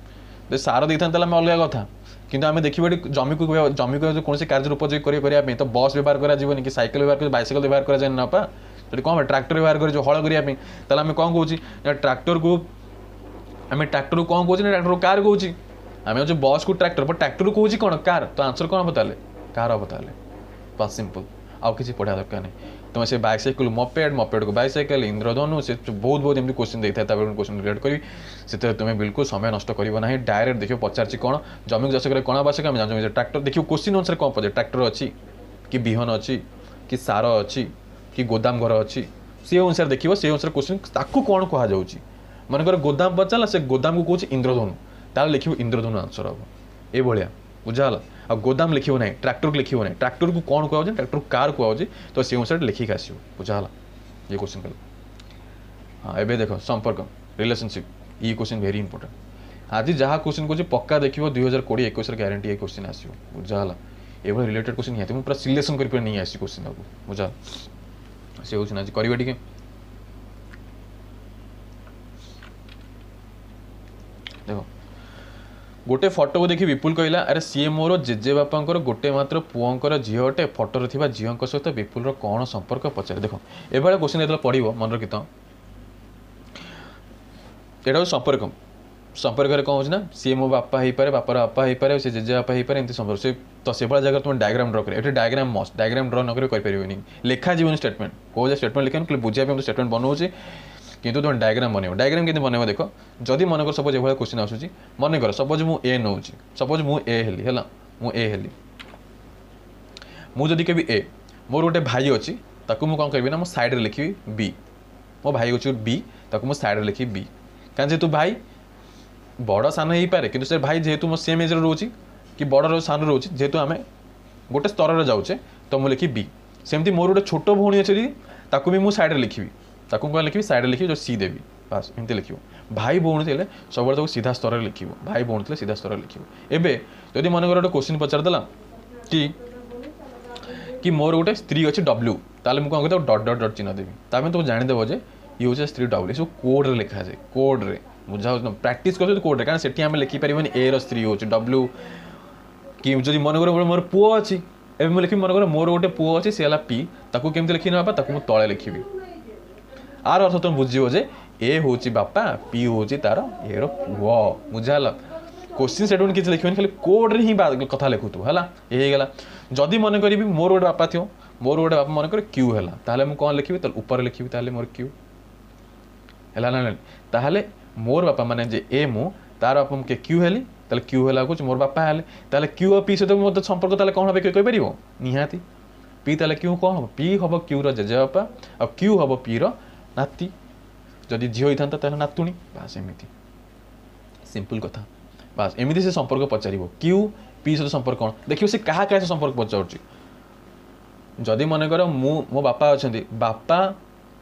ଯଦି ସାର ଦେଇଥାନ୍ତେ ତାହେଲେ ଆମେ ଅଲଗା କଥା, କିନ୍ତୁ ଆମେ ଦେଖିବା ଏଠି ଜମିକୁ ଜମିକୁ କୌଣସି କାର୍ଯ୍ୟରେ ଉପଯୋଗୀ କରିବା କରିବା ପାଇଁ ତ ବସ୍ ବ୍ୟବହାର କରାଯିବନି କି ସାଇକେଲ ବ୍ୟବହାର କରି ବାଇସାଇକେଲ ବ୍ୟବହାର କରାଯାଏନି ନା ବାପା। ସେଠି କ'ଣ ଟ୍ରାକ୍ଟର ବ୍ୟବହାର କରିଯିବ ହଳ କରିବା ପାଇଁ। ତାହେଲେ ଆମେ କ'ଣ କହୁଛି ନା ଟ୍ରାକ୍ଟରକୁ ଆମେ ଟ୍ରାକ୍ଟରକୁ କ'ଣ କହୁଛି ନା ଟ୍ରାକ୍ଟରକୁ କାର୍ କହୁଛି। ଆମେ ହେଉଛି ବସ୍କୁ ଟ୍ରାକ୍ଟର, ବଟ୍ ଟ୍ରାକ୍ଟରକୁ କହୁଛି କ'ଣ? କାର୍। ତ ଆନ୍ସର କ'ଣ ହେବ ତାହେଲେ? କାର୍ ହେବ ତାହେଲେ। ବାସ୍, ସିମ୍ପଲ୍, ଆଉ କିଛି ପଢ଼ିବା ଦରକାର ନାହିଁ। ତୁମେ ସେ ବାଇସାଇକେଲ ମପେଡ଼, ମପେଡ଼କୁ ବାଇସାଇକେଲ, ଇନ୍ଦ୍ରଧନୁ, ସେ ବହୁତ ବହୁତ ଏମିତି କ୍ୱେଶ୍ଚିନ୍ ଦେଇଥାଏ। ତାପରେ କ୍ୱେଶ୍ଚିନ୍ ରିଲେଟ୍ କରିବି, ସେଥିରେ ତୁମେ ବିଲକୁଲ ସମୟ ନଷ୍ଟ କରିବ ନାହିଁ। ଡାଇରେକ୍ଟ ଦେଖିବ ପଚାରିଛି କ'ଣ? ଜମିକୁ ଚାଷ କରିବା କ'ଣ ଆବଶ୍ୟକ? ଆମେ ଜାଣିଛୁ ଟ୍ରାକ୍ଟର। ଦେଖିବ କ୍ୱେଶ୍ଚିନ୍ ଅନୁସାରେ କ'ଣ ପଚାରେ, ଟ୍ରାକ୍ଟର ଅଛି କି ବିହନ ଅଛି କି ସାର ଅଛି କି ଗୋଦାମ ଘର ଅଛି, ସେ ଅନୁସାରେ ଦେଖିବ, ସେ ଅନୁସାରେ କ୍ୱେଶ୍ଚିନ୍ ତାକୁ କ'ଣ କୁହାଯାଉଛି। ମନେକର ଗୋଦାମ ପଚାରିଲା, ସେ ଗୋଦାମକୁ କହୁଛି ଇନ୍ଦ୍ରଧନୁ, ତାହେଲେ ଲେଖିବ ଇନ୍ଦ୍ରଧନୁ ଆନ୍ସର ହେବ। ଏଇଭଳିଆ, ବୁଝା ହେଲା? ଆଉ ଗୋଦାମ ଲେଖିବ ନାହିଁ, ଟ୍ରାକ୍ଟରକୁ ଲେଖିବ ନାହିଁ। ଟ୍ରାକ୍ଟରକୁ କ'ଣ କୁହାଯାଉଛି? ଟ୍ରାକ୍ଟରକୁ କାର୍ କୁହାଯାଉଛି, ତ ସେ ଅନୁସାରେ ଲେଖିକି ଆସିବ। ବୁଝା ହେଲା? ଇଏ କ୍ୱେଶ୍ଚିନ୍ କଲେ। ହଁ, ଏବେ ଦେଖ ସମ୍ପର୍କ, ରିଲେସନସିପ୍। ଇ କ୍ୱେଶ୍ଚିନ୍ ଭେରି ଇମ୍ପୋର୍ଟାଣ୍ଟ। ଆଜି ଯାହା କ୍ୱେଶ୍ଚିନ୍ କହୁଛି, ପକ୍କା ଦେଖିବ ଦୁଇ ହଜାର କୋଡ଼ିଏ ଏକୋଇଶରେ ଗ୍ୟାରେଣ୍ଟି ଏ କ୍ୱେଶ୍ଚିନ୍ ଆସିବ। ବୁଝା ହେଲା? ଏଭଳି ରିଲେଟେଡ୍ କ୍ୱେଶ୍ଚିନ୍ ନିହାତି ମୁଁ ପୁରା ସିଲେକ୍ସନ୍ କରି ନେଇ ଆସିଛି କ୍ୱେଶ୍ଚିନ୍ ତାକୁ। ବୁଝା ସେ ହେଉଛି ନା? ଆଜି କରିବା ଟିକେ ଦେଖ। ଗୋଟେ ଫଟୋକୁ ଦେଖି ବିପୁଲ କହିଲା, ଆରେ ସିଏ ମୋର ଜେଜେବାପାଙ୍କର ଗୋଟେ ମାତ୍ର ପୁଅଙ୍କର ଝିଅ ଅଟେ। ଫଟୋରେ ଥିବା ଝିଅଙ୍କ ସହିତ ବିପୁଲର କ'ଣ ସମ୍ପର୍କ ପଚାରେ। ଦେଖ, ଏଭଳିଆ କ୍ୱେଶ୍ଚିନ୍ ଯେତେବେଳେ ପଢ଼ିବ, ମନେ ରଖିତ ଏଇଟା ହେଉଛି ସମ୍ପର୍କ। ସମ୍ପର୍କରେ କ'ଣ ହେଉଛି ନା ସିଏ ମୋ ବାପା ହେଇପାରେ, ବାପାର ବାପା ହେଇପାରେ, ସେ ଜେଜେବାପା ହେଇପାରେ, ଏମିତି ସମ୍ପର୍କ ସେ। ତ ସେଭଳିଆ ଜାଗାରେ ତୁମେ ଡାଇଗ୍ରାମ ଡ୍ର କରିବ। ଏଠି ଡାଇଗ୍ରାମ ମଷ୍ଟ, ଡାଇଗ୍ରାମ ଡ୍ର ନ କରି କରିପାରିବନି, ଲେଖାଯିବନି ଷ୍ଟେଟମେଣ୍ଟ। କେଉଁ ଯାଏ ଷ୍ଟେଟମେଣ୍ଟ ଲେଖିବନି, ଖାଲି ବୁଝିବା ପାଇଁ ଷ୍ଟେଟମେଣ୍ଟ ବନଉଛି, କିନ୍ତୁ ତୁମେ ଡାଇଗ୍ରାମ ବନେଇବ। ଡାଇଗ୍ରାମ କେମିତି ବନେଇବ ଦେଖ। ଯଦି ମନେକର ସପୋଜ ଏଭଳିଆ କ୍ୱେଶ୍ଚିନ୍ ଆସୁଛି, ମନେକର ସପୋଜ ମୁଁ ଏ ନେଉଛି, ସପୋଜ ମୁଁ ଏ ହେଲି, ହେଲା, ମୁଁ ଏ ହେଲି। ମୁଁ ଯଦି କେବେ ଏ, ମୋର ଗୋଟେ ଭାଇ ଅଛି, ତାକୁ ମୁଁ କ'ଣ କରିବି ନା ମୁଁ ସାଇଡ଼୍ରେ ଲେଖିବି ବି। ମୋ ଭାଇ ହେଉଛି ବି, ତାକୁ ମୁଁ ସାଇଡ଼୍ରେ ଲେଖିବି ବି, କାରଣ ଯେହେତୁ ଭାଇ ବଡ଼ ସାନ ହେଇପାରେ, କିନ୍ତୁ ସେ ଭାଇ ଯେହେତୁ ମୋ ସେମ୍ ଏଜ୍ରେ ରହୁଛି କି ବଡ଼ ସାନ ରହୁଛି, ଯେହେତୁ ଆମେ ଗୋଟେ ସ୍ତରରେ ଯାଉଛେ, ତ ମୁଁ ଲେଖିବି ବି। ସେମିତି ମୋର ଗୋଟେ ଛୋଟ ଭଉଣୀ ଅଛି, ତାକୁ ବି ମୁଁ ସାଇଡ଼୍ରେ ଲେଖିବି। ତାକୁ କ'ଣ ଲେଖିବି? ସାଇଡ଼୍ରେ ଲେଖିବି, ଯେଉଁ ସି ଦେବି, ବାସ୍ ଏମିତି ଲେଖିବ। ଭାଇ ଭଉଣୀ ଥିଲେ ସବୁବେଳେ ତାକୁ ସିଧା ସ୍ତରରେ ଲେଖିବ। ଭାଇ ଭଉଣୀ ଥିଲେ ସିଧା ସ୍ତରରେ ଲେଖିବ। ଏବେ ଯଦି ମନେକର ଗୋଟେ କ୍ୱେଶ୍ଚିନ୍ ପଚାରିଦେଲା କି କି ମୋର ଗୋଟେ ସ୍ତ୍ରୀ ଅଛି ଡବ୍ଲ୍ୟୁ, ତାହେଲେ ମୁଁ କ'ଣ କରିବି? ଡଟ୍ ଡଟ୍ ଡଟ୍ ଚିହ୍ନ ଦେବି। ତାପରେ ତୁମେ ଜାଣିଦେବ ଯେ ଇଏ ହେଉଛି ସ୍ତ୍ରୀ ଡବ୍ଲ୍ୟୁ। ଏସବୁ କୋଡ଼୍ରେ ଲେଖାଯାଏ, କୋଡ଼୍ରେ। ବୁଝା ହେଉଛି? ପ୍ରାକ୍ଟିସ୍ କରୁଛନ୍ତି କୋଡ଼୍ରେ, କାରଣ ସେଠି ଆମେ ଲେଖିପାରିବାନି ଏର ସ୍ତ୍ରୀ ହେଉଛି ଡବ୍ଲ୍ୟୁ। କି ଯଦି ମନେକର ମୋର ପୁଅ ଅଛି, ଏବେ ମୁଁ ଲେଖିବି, ମନେକର ମୋର ଗୋଟେ ପୁଅ ଅଛି, ସେ ହେଲା ପି, ତାକୁ କେମିତି ଲେଖିବି ବାପା? ତାକୁ ମୁଁ ତଳେ ଲେଖିବି। ଆର ଅର୍ଥ ତୁମେ ବୁଝିବ ଯେ ଏ ହେଉଛି ବାପା, ପି ହେଉଛି ତାର ଏର ପୁଅ। ବୁଝା ହେଲା? କୋଶ୍ଚିନ୍ ସେଠୁ କିଛି ଲେଖିବନି, ଖାଲି କୋଡ଼୍ରେ ହିଁ କଥା ଲେଖୁଥିବ। ହେଲା, ଏ ହେଇଗଲା। ଯଦି ମନେ କରିବି ମୋର ଗୋଟେ ବାପା ଥିବ, ମୋର ଗୋଟେ ବାପା ମନେକର କ୍ୟୁ ହେଲା, ତାହେଲେ ମୁଁ କ'ଣ ଲେଖିବି? ତାହେଲେ ଉପରେ ଲେଖିବି, ତାହେଲେ ମୋର କ୍ୟୁ ହେଲା ନା ନାଇଁ? ତାହେଲେ ମୋର ବାପା ମାନେ ଯେ ଏ ମୁଁ, ତାର ବାପା ମୁଁ କ୍ୟୁ ହେଲି, ତାହେଲେ କ୍ୟୁ ହେଲା କହୁଛି ମୋର ବାପା ହେଲେ, ତାହେଲେ କ୍ୟୁ ଆଉ ପି ସହିତ ମୋତେ ସମ୍ପର୍କ ତାହେଲେ କ'ଣ ହେବ କହିପାରିବ? ନିହାତି ପି। ତାହେଲେ କ୍ୟୁ କ'ଣ ହେବ? ପି ହେବ କ୍ୟୁର ଜେଜେବାପା ଆଉ କ୍ୟୁ ହେବ ପିର ନାତି। ଯଦି ଝିଅ ହେଇଥାନ୍ତା ତାହେଲେ ନାତୁଣୀ। ବାସ୍, ଏମିତି ସିମ୍ପଲ୍ କଥା। ବାସ୍, ଏମିତି ସେ ସମ୍ପର୍କ ପଚାରିବ। କ୍ୟୁ ପି ସହିତ ସମ୍ପର୍କ କ'ଣ ଦେଖିବ, ସେ କାହା କାହା ସହିତ ସମ୍ପର୍କ ପଚାରୁଛି। ଯଦି ମନେକର ମୁଁ ମୋ ବାପା ଅଛନ୍ତି, ବାପା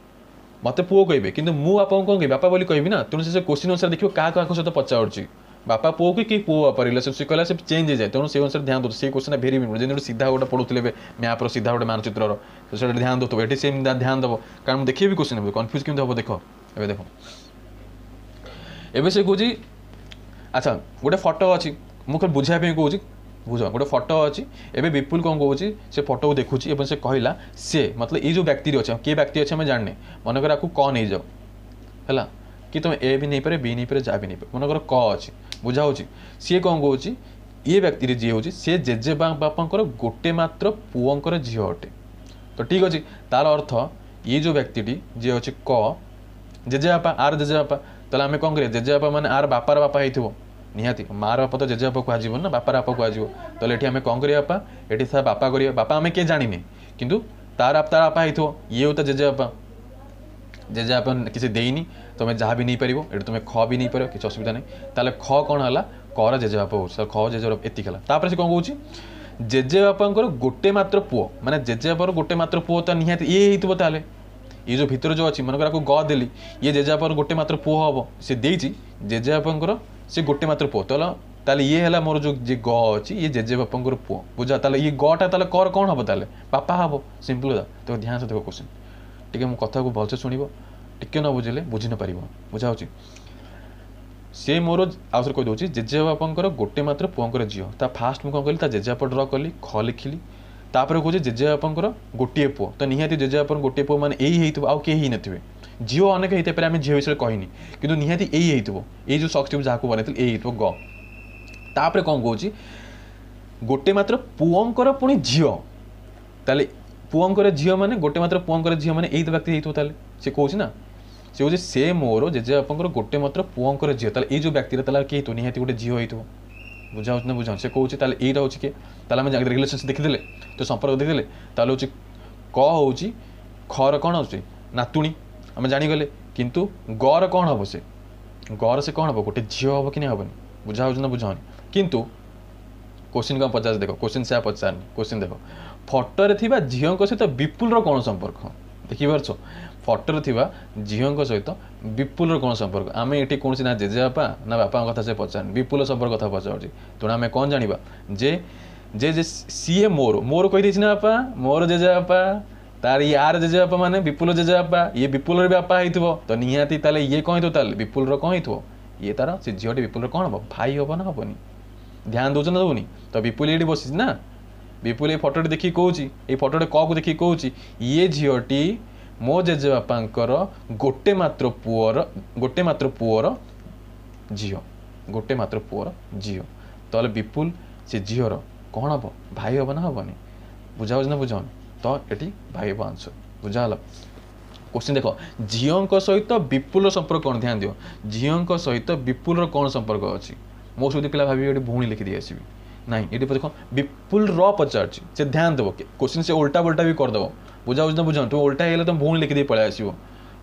ମୋତେ ପୁଅ କହିବେ, କିନ୍ତୁ ମୁଁ ବାପାଙ୍କୁ କ'ଣ କହିବି? ବାପା ବୋଲି କହିବି ନା? ତେଣୁ ସେ କୋଶ୍ଚିନ୍ ଅନୁସାରେ ଦେଖିବ କାହା କାହା ସହିତ ପଚାରୁଛି, ବାପା ପୁଅକୁ କି ପୁଅ ବାପା ରିଲେସନସିପ୍ କହିଲା, ସେ ଚେଞ୍ଜ ହେଇଯାଏ। ତେଣୁ ସେଇ ଅନୁସାରେ ଧ୍ୟାନ ଦେଉଥିବ। ସେଇ କୋଶ୍ଚିନ୍ଟା ଭେରି ଇମ୍ପୋର୍ଟାଣ୍ଟ। ଯେମିତି ଗୋଟେ ସିଧା ଗୋଟେ ପଢ଼ୁଥିଲେ ଏବେ ମ୍ୟାପ୍ର ସିଧା ଗୋଟେ ମାନଚିତ୍ରର, ସେଇଟା ଧ୍ୟାନ ଦେଉଥିବ, ଏଠି ସେମିତି ଧ୍ୟାନ ଦେବ, କାରଣ ମୁଁ ଦେଖିବି କୋଶ୍ଚିନ୍ କନଫ୍ୟୁଜ୍ କେମିତି ହେବ। ଦେଖ, ଏବେ ଦେଖ, ଏବେ ସେ କହୁଛି, ଆଚ୍ଛା ଗୋଟେ ଫଟୋ ଅଛି, ମୁଁ ଖାଲି ବୁଝାଇବା ପାଇଁ କହୁଛି ବୁଝ ଗୋଟେ ଫଟୋ ଅଛି ଏବେ ବିପୁଲ କ'ଣ କହୁଛି ସେ ଫଟୋକୁ ଦେଖୁଛି ଏବଂ ସେ କହିଲା ସେ ମତଲବ ଏଇ ଯେଉଁ ବ୍ୟକ୍ତିଟି ଅଛି କିଏ ବ୍ୟକ୍ତି ଅଛି ଆମେ ଜାଣିନେ ମନେକର ଆକୁ କ ନେଇଯାଅ ହେଲା କି ତୁମେ ଏ ବି ନେଇପାରେ ବି ନେଇପାରେ ଯାହା ବି ନେଇପାରେ ମନେକର କ ଅଛି ବୁଝା ହେଉଛି ସିଏ କ'ଣ କହୁଛି ଇଏ ବ୍ୟକ୍ତିରେ ଯିଏ ହେଉଛି ସେ ଜେଜେ ବାପାଙ୍କର ଗୋଟେ ମାତ୍ର ପୁଅଙ୍କର ଝିଅ ଅଟେ ତ ଠିକ୍ ଅଛି ତାର ଅର୍ଥ ଇଏ ଯେଉଁ ବ୍ୟକ୍ତିଟି ଯିଏ ଅଛି କ ଜେଜେବାପା ଆର ଜେଜେବାପା ତାହେଲେ ଆମେ କ'ଣ କରିବା ଜେଜେବାପା ମାନେ ଆର ବାପାର ବାପା ହେଇଥିବ ନିହାତି ମାର ବାପା ତ ଜେଜେବାପା କୁହାଯିବ ନା ବାପାର ବାପା କୁହାଯିବ ତାହେଲେ ଏଠି ଆମେ କ'ଣ କରିବା ବାପା ଏଠି ତା ବାପା କରିବା ବାପା ଆମେ କିଏ ଜାଣିନେ କିନ୍ତୁ ତାର ତାର ବାପା ହେଇଥିବ ଇଏ ହଉ ତା ଜେଜେବାପା ଜେଜେବାପା କିଛି ଦେଇନି ତୁମେ ଯାହା ବି ନେଇପାରିବ ଏଠି ତୁମେ ଖ ବି ନେଇପାରିବ କିଛି ଅସୁବିଧା ନାହିଁ ତାହେଲେ ଖ କ'ଣ ହେଲା କର ଜେଜେବାପା ହେଉଛି ଖ ଜେଜେବାପା ଏତିକି ହେଲା ତାପରେ ସେ କ'ଣ କହୁଛି ଜେଜେବାପାଙ୍କର ଗୋଟେ ମାତ୍ର ପୁଅ ମାନେ ଜେଜେବାପାର ଗୋଟେ ମାତ୍ର ପୁଅ ତ ନିହାତି ଇଏ ହେଇଥିବ ତାହେଲେ ଇଏ ଯେଉଁ ଭିତରେ ଯେଉଁ ଅଛି ମନେକର ଆକୁ ଗ ଦେଲି ଇଏ ଜେଜେବାପାର ଗୋଟେ ମାତ୍ର ପୁଅ ହେବ ସେ ଦେଇଛି ଜେଜେବାପାଙ୍କର ସେ ଗୋଟେ ମାତ୍ର ପୁଅ ତାହେଲେ ତାହେଲେ ଇଏ ହେଲା ମୋର ଯେଉଁ ଯିଏ ଗ ଅଛି ଇଏ ଜେଜେବାପାଙ୍କର ପୁଅ ବୁଝା ତାହେଲେ ଇଏ ଗଟା ତାହେଲେ କର କ'ଣ ହେବ ତାହେଲେ ବାପା ହେବ ସିମ୍ପଲ୍ କଥା ତ ଧ୍ୟାନ ସେ ଦେଖ କୋଶ୍ଚିନ୍ ଟିକେ ମୋ କଥାକୁ ଭଲସେ ଶୁଣିବ ଟିକେ ନ ବୁଝିଲେ ବୁଝି ନ ପାରିବ ବୁଝା ହେଉଛି ସେ ମୋର ଆଉ ଥରେ କହିଦେଉଛି ଜେଜେବାପାଙ୍କର ଗୋଟେ ମାତ୍ର ପୁଅଙ୍କର ଝିଅ ତା ଫାଷ୍ଟ ମୁଁ କ'ଣ କଲି ତା ଜେଜେବାପା ଡ୍ର କଲି ଖ ଲେଖିଲି ତାପରେ କହୁଛି ଜେଜେବାପାଙ୍କର ଗୋଟିଏ ପୁଅ ତ ନିହାତି ଜେଜେବାପାଙ୍କର ଗୋଟିଏ ପୁଅ ମାନେ ଏଇ ହେଇଥିବ ଆଉ କେହି ହେଇନଥିବେ ଝିଅ ଅନେକ ହେଇଥାଇପାରେ ଆମେ ଝିଅ ବିଷୟରେ କହିନି କିନ୍ତୁ ନିହାତି ଏଇ ହେଇଥିବ ଏଇ ଯେଉଁ ସକ୍ସଟିକୁ ଯାହାକୁ ବନେଇଥିଲି ଏଇ ହେଇଥିବ ଗ ତାପରେ କ'ଣ କହୁଛି ଗୋଟେ ମାତ୍ର ପୁଅଙ୍କର ପୁଣି ଝିଅ ତାହେଲେ ପୁଅଙ୍କର ଝିଅ ମାନେ ଗୋଟେ ମାତ୍ର ପୁଅଙ୍କର ଝିଅ ମାନେ ଏଇ ତ ବ୍ୟକ୍ତି ହେଇଥିବ ତାହେଲେ ସେ କହୁଛି ନା ସେ କହୁଛି ସେ ମୋର ଜେଜେବାପାଙ୍କର ଗୋଟେ ମାତ୍ର ପୁଅଙ୍କର ଝିଅ ତାହେଲେ ଏଇ ଯେଉଁ ବ୍ୟକ୍ତିଟା ତାହେଲେ କିଏ ହେଇଥିବ ନିହାତି ଗୋଟେ ଝିଅ ହେଇଥିବ ବୁଝା ହେଉଛି ନା ବୁଝା ସେ କହୁଛି ତାହେଲେ ଏଇଟା ହେଉଛି କିଏ ତାହେଲେ ଆମେ ରିଲେସନସିପ୍ ଦେଖିଦେଲେ ତ ସମ୍ପର୍କ ଦେଖିଦେଲେ ତାହେଲେ ହେଉଛି କ ହେଉଛି ଖର କ'ଣ ହେଉଛି ନାତୁଣୀ ଆମେ ଜାଣିଗଲେ କିନ୍ତୁ ଗର କ'ଣ ହେବ ସେ ଗର ସେ କ'ଣ ହେବ ଗୋଟେ ଝିଅ ହେବ କି ନା ହେବନି ବୁଝା ହେଉଛି ନା ବୁଝା ହେଉନି କିନ୍ତୁ କୋଶ୍ଚିନ୍ କ'ଣ ପଚାରୁଛି ଦେଖ କୋଶ୍ଚିନ୍ ସେୟା ପଚାରନି କୋଶ୍ଚିନ୍ ଦେଖ ଫଟୋରେ ଥିବା ଝିଅଙ୍କ ସହିତ ବିପୁଲର କ'ଣ ସମ୍ପର୍କ ଦେଖିପାରୁଛ ଫଟୋରେ ଥିବା ଝିଅଙ୍କ ସହିତ ବିପୁଲର କ'ଣ ସମ୍ପର୍କ ଆମେ ଏଠି କୌଣସି ନା ଜେଜେବାପା ନା ବାପାଙ୍କ କଥା ସେ ପଚାରୁନି ବିପୁଲ ସମ୍ପର୍କ କଥା ପଚାରୁଛି ତେଣୁ ଆମେ କ'ଣ ଜାଣିବା ଯେ ଯେ ଯେ ସିଏ ମୋର ମୋର କହିଦେଇଛି ନା ବାପା ମୋର ଜେଜେବାପା ତାର ୟାର ଜେଜେବାପା ମାନେ ବିପୁଲ ଜେଜେବାପା ଇଏ ବିପୁଲର ବି ବାପା ହେଇଥିବ ତ ନିହାତି ତାହେଲେ ଇଏ କ'ଣ ହେଇଥିବ ତାହେଲେ ବିପୁଲର କ'ଣ ହେଇଥିବ ଇଏ ତାର ସେ ଝିଅଟି ବିପୁଲର କ'ଣ ହେବ ଭାଇ ହେବ ନା ହେବନି ଧ୍ୟାନ ଦେଉଛ ନା ଦେଉନି ତ ବିପୁଲ ଏଇଠି ବସିଛି ନା ବିପୁଲ ଏଇ ଫଟୋଟି ଦେଖିକି କହୁଛି ଏଇ ଫଟୋଟି କକୁ ଦେଖିକି କହୁଛି ଇଏ ଝିଅଟି ମୋ ଜେଜେବାପାଙ୍କର ଗୋଟେ ମାତ୍ର ପୁଅର ଗୋଟେ ମାତ୍ର ପୁଅର ଝିଅ ଗୋଟେ ମାତ୍ର ପୁଅର ଝିଅ ତାହେଲେ ବିପୁଲ ସେ ଝିଅର କ'ଣ ହେବ ଭାଇ ହେବ ନା ହେବନି ବୁଝା ହେଉଛି ନା ବୁଝାଉନି ତ ଏଠି ଭାଇ ହେବ ଆନ୍ସର ବୁଝା ହେଲା କୋଶ୍ଚିନ୍ ଦେଖ ଝିଅଙ୍କ ସହିତ ବିପୁଲର ସମ୍ପର୍କ କ'ଣ ଧ୍ୟାନ ଦିଅ ଝିଅଙ୍କ ସହିତ ବିପୁଲର କ'ଣ ସମ୍ପର୍କ ଅଛି ମୋ ସହିତ ପିଲା ଭାବିବେ ଏଠି ଭଉଣୀ ଲେଖିଦେଇ ଆସିବି ନାଇଁ ଏଠି ଦେଖ ବିପୁଲର ପଚାରୁଛି ସେ ଧ୍ୟାନ ଦେବ କୋଶ୍ଚିନ୍ ସେ ଓଲଟା ପଲଟା ବି କରିଦେବ ବୁଝା ହେଉଛି ନା ବୁଝାଉନି ତୁମେ ଓଲଟା ହେଇଗଲେ ତୁମେ ଭଉଣୀ ଲେଖିଦେଇ ପଳେଇ ଆସିବ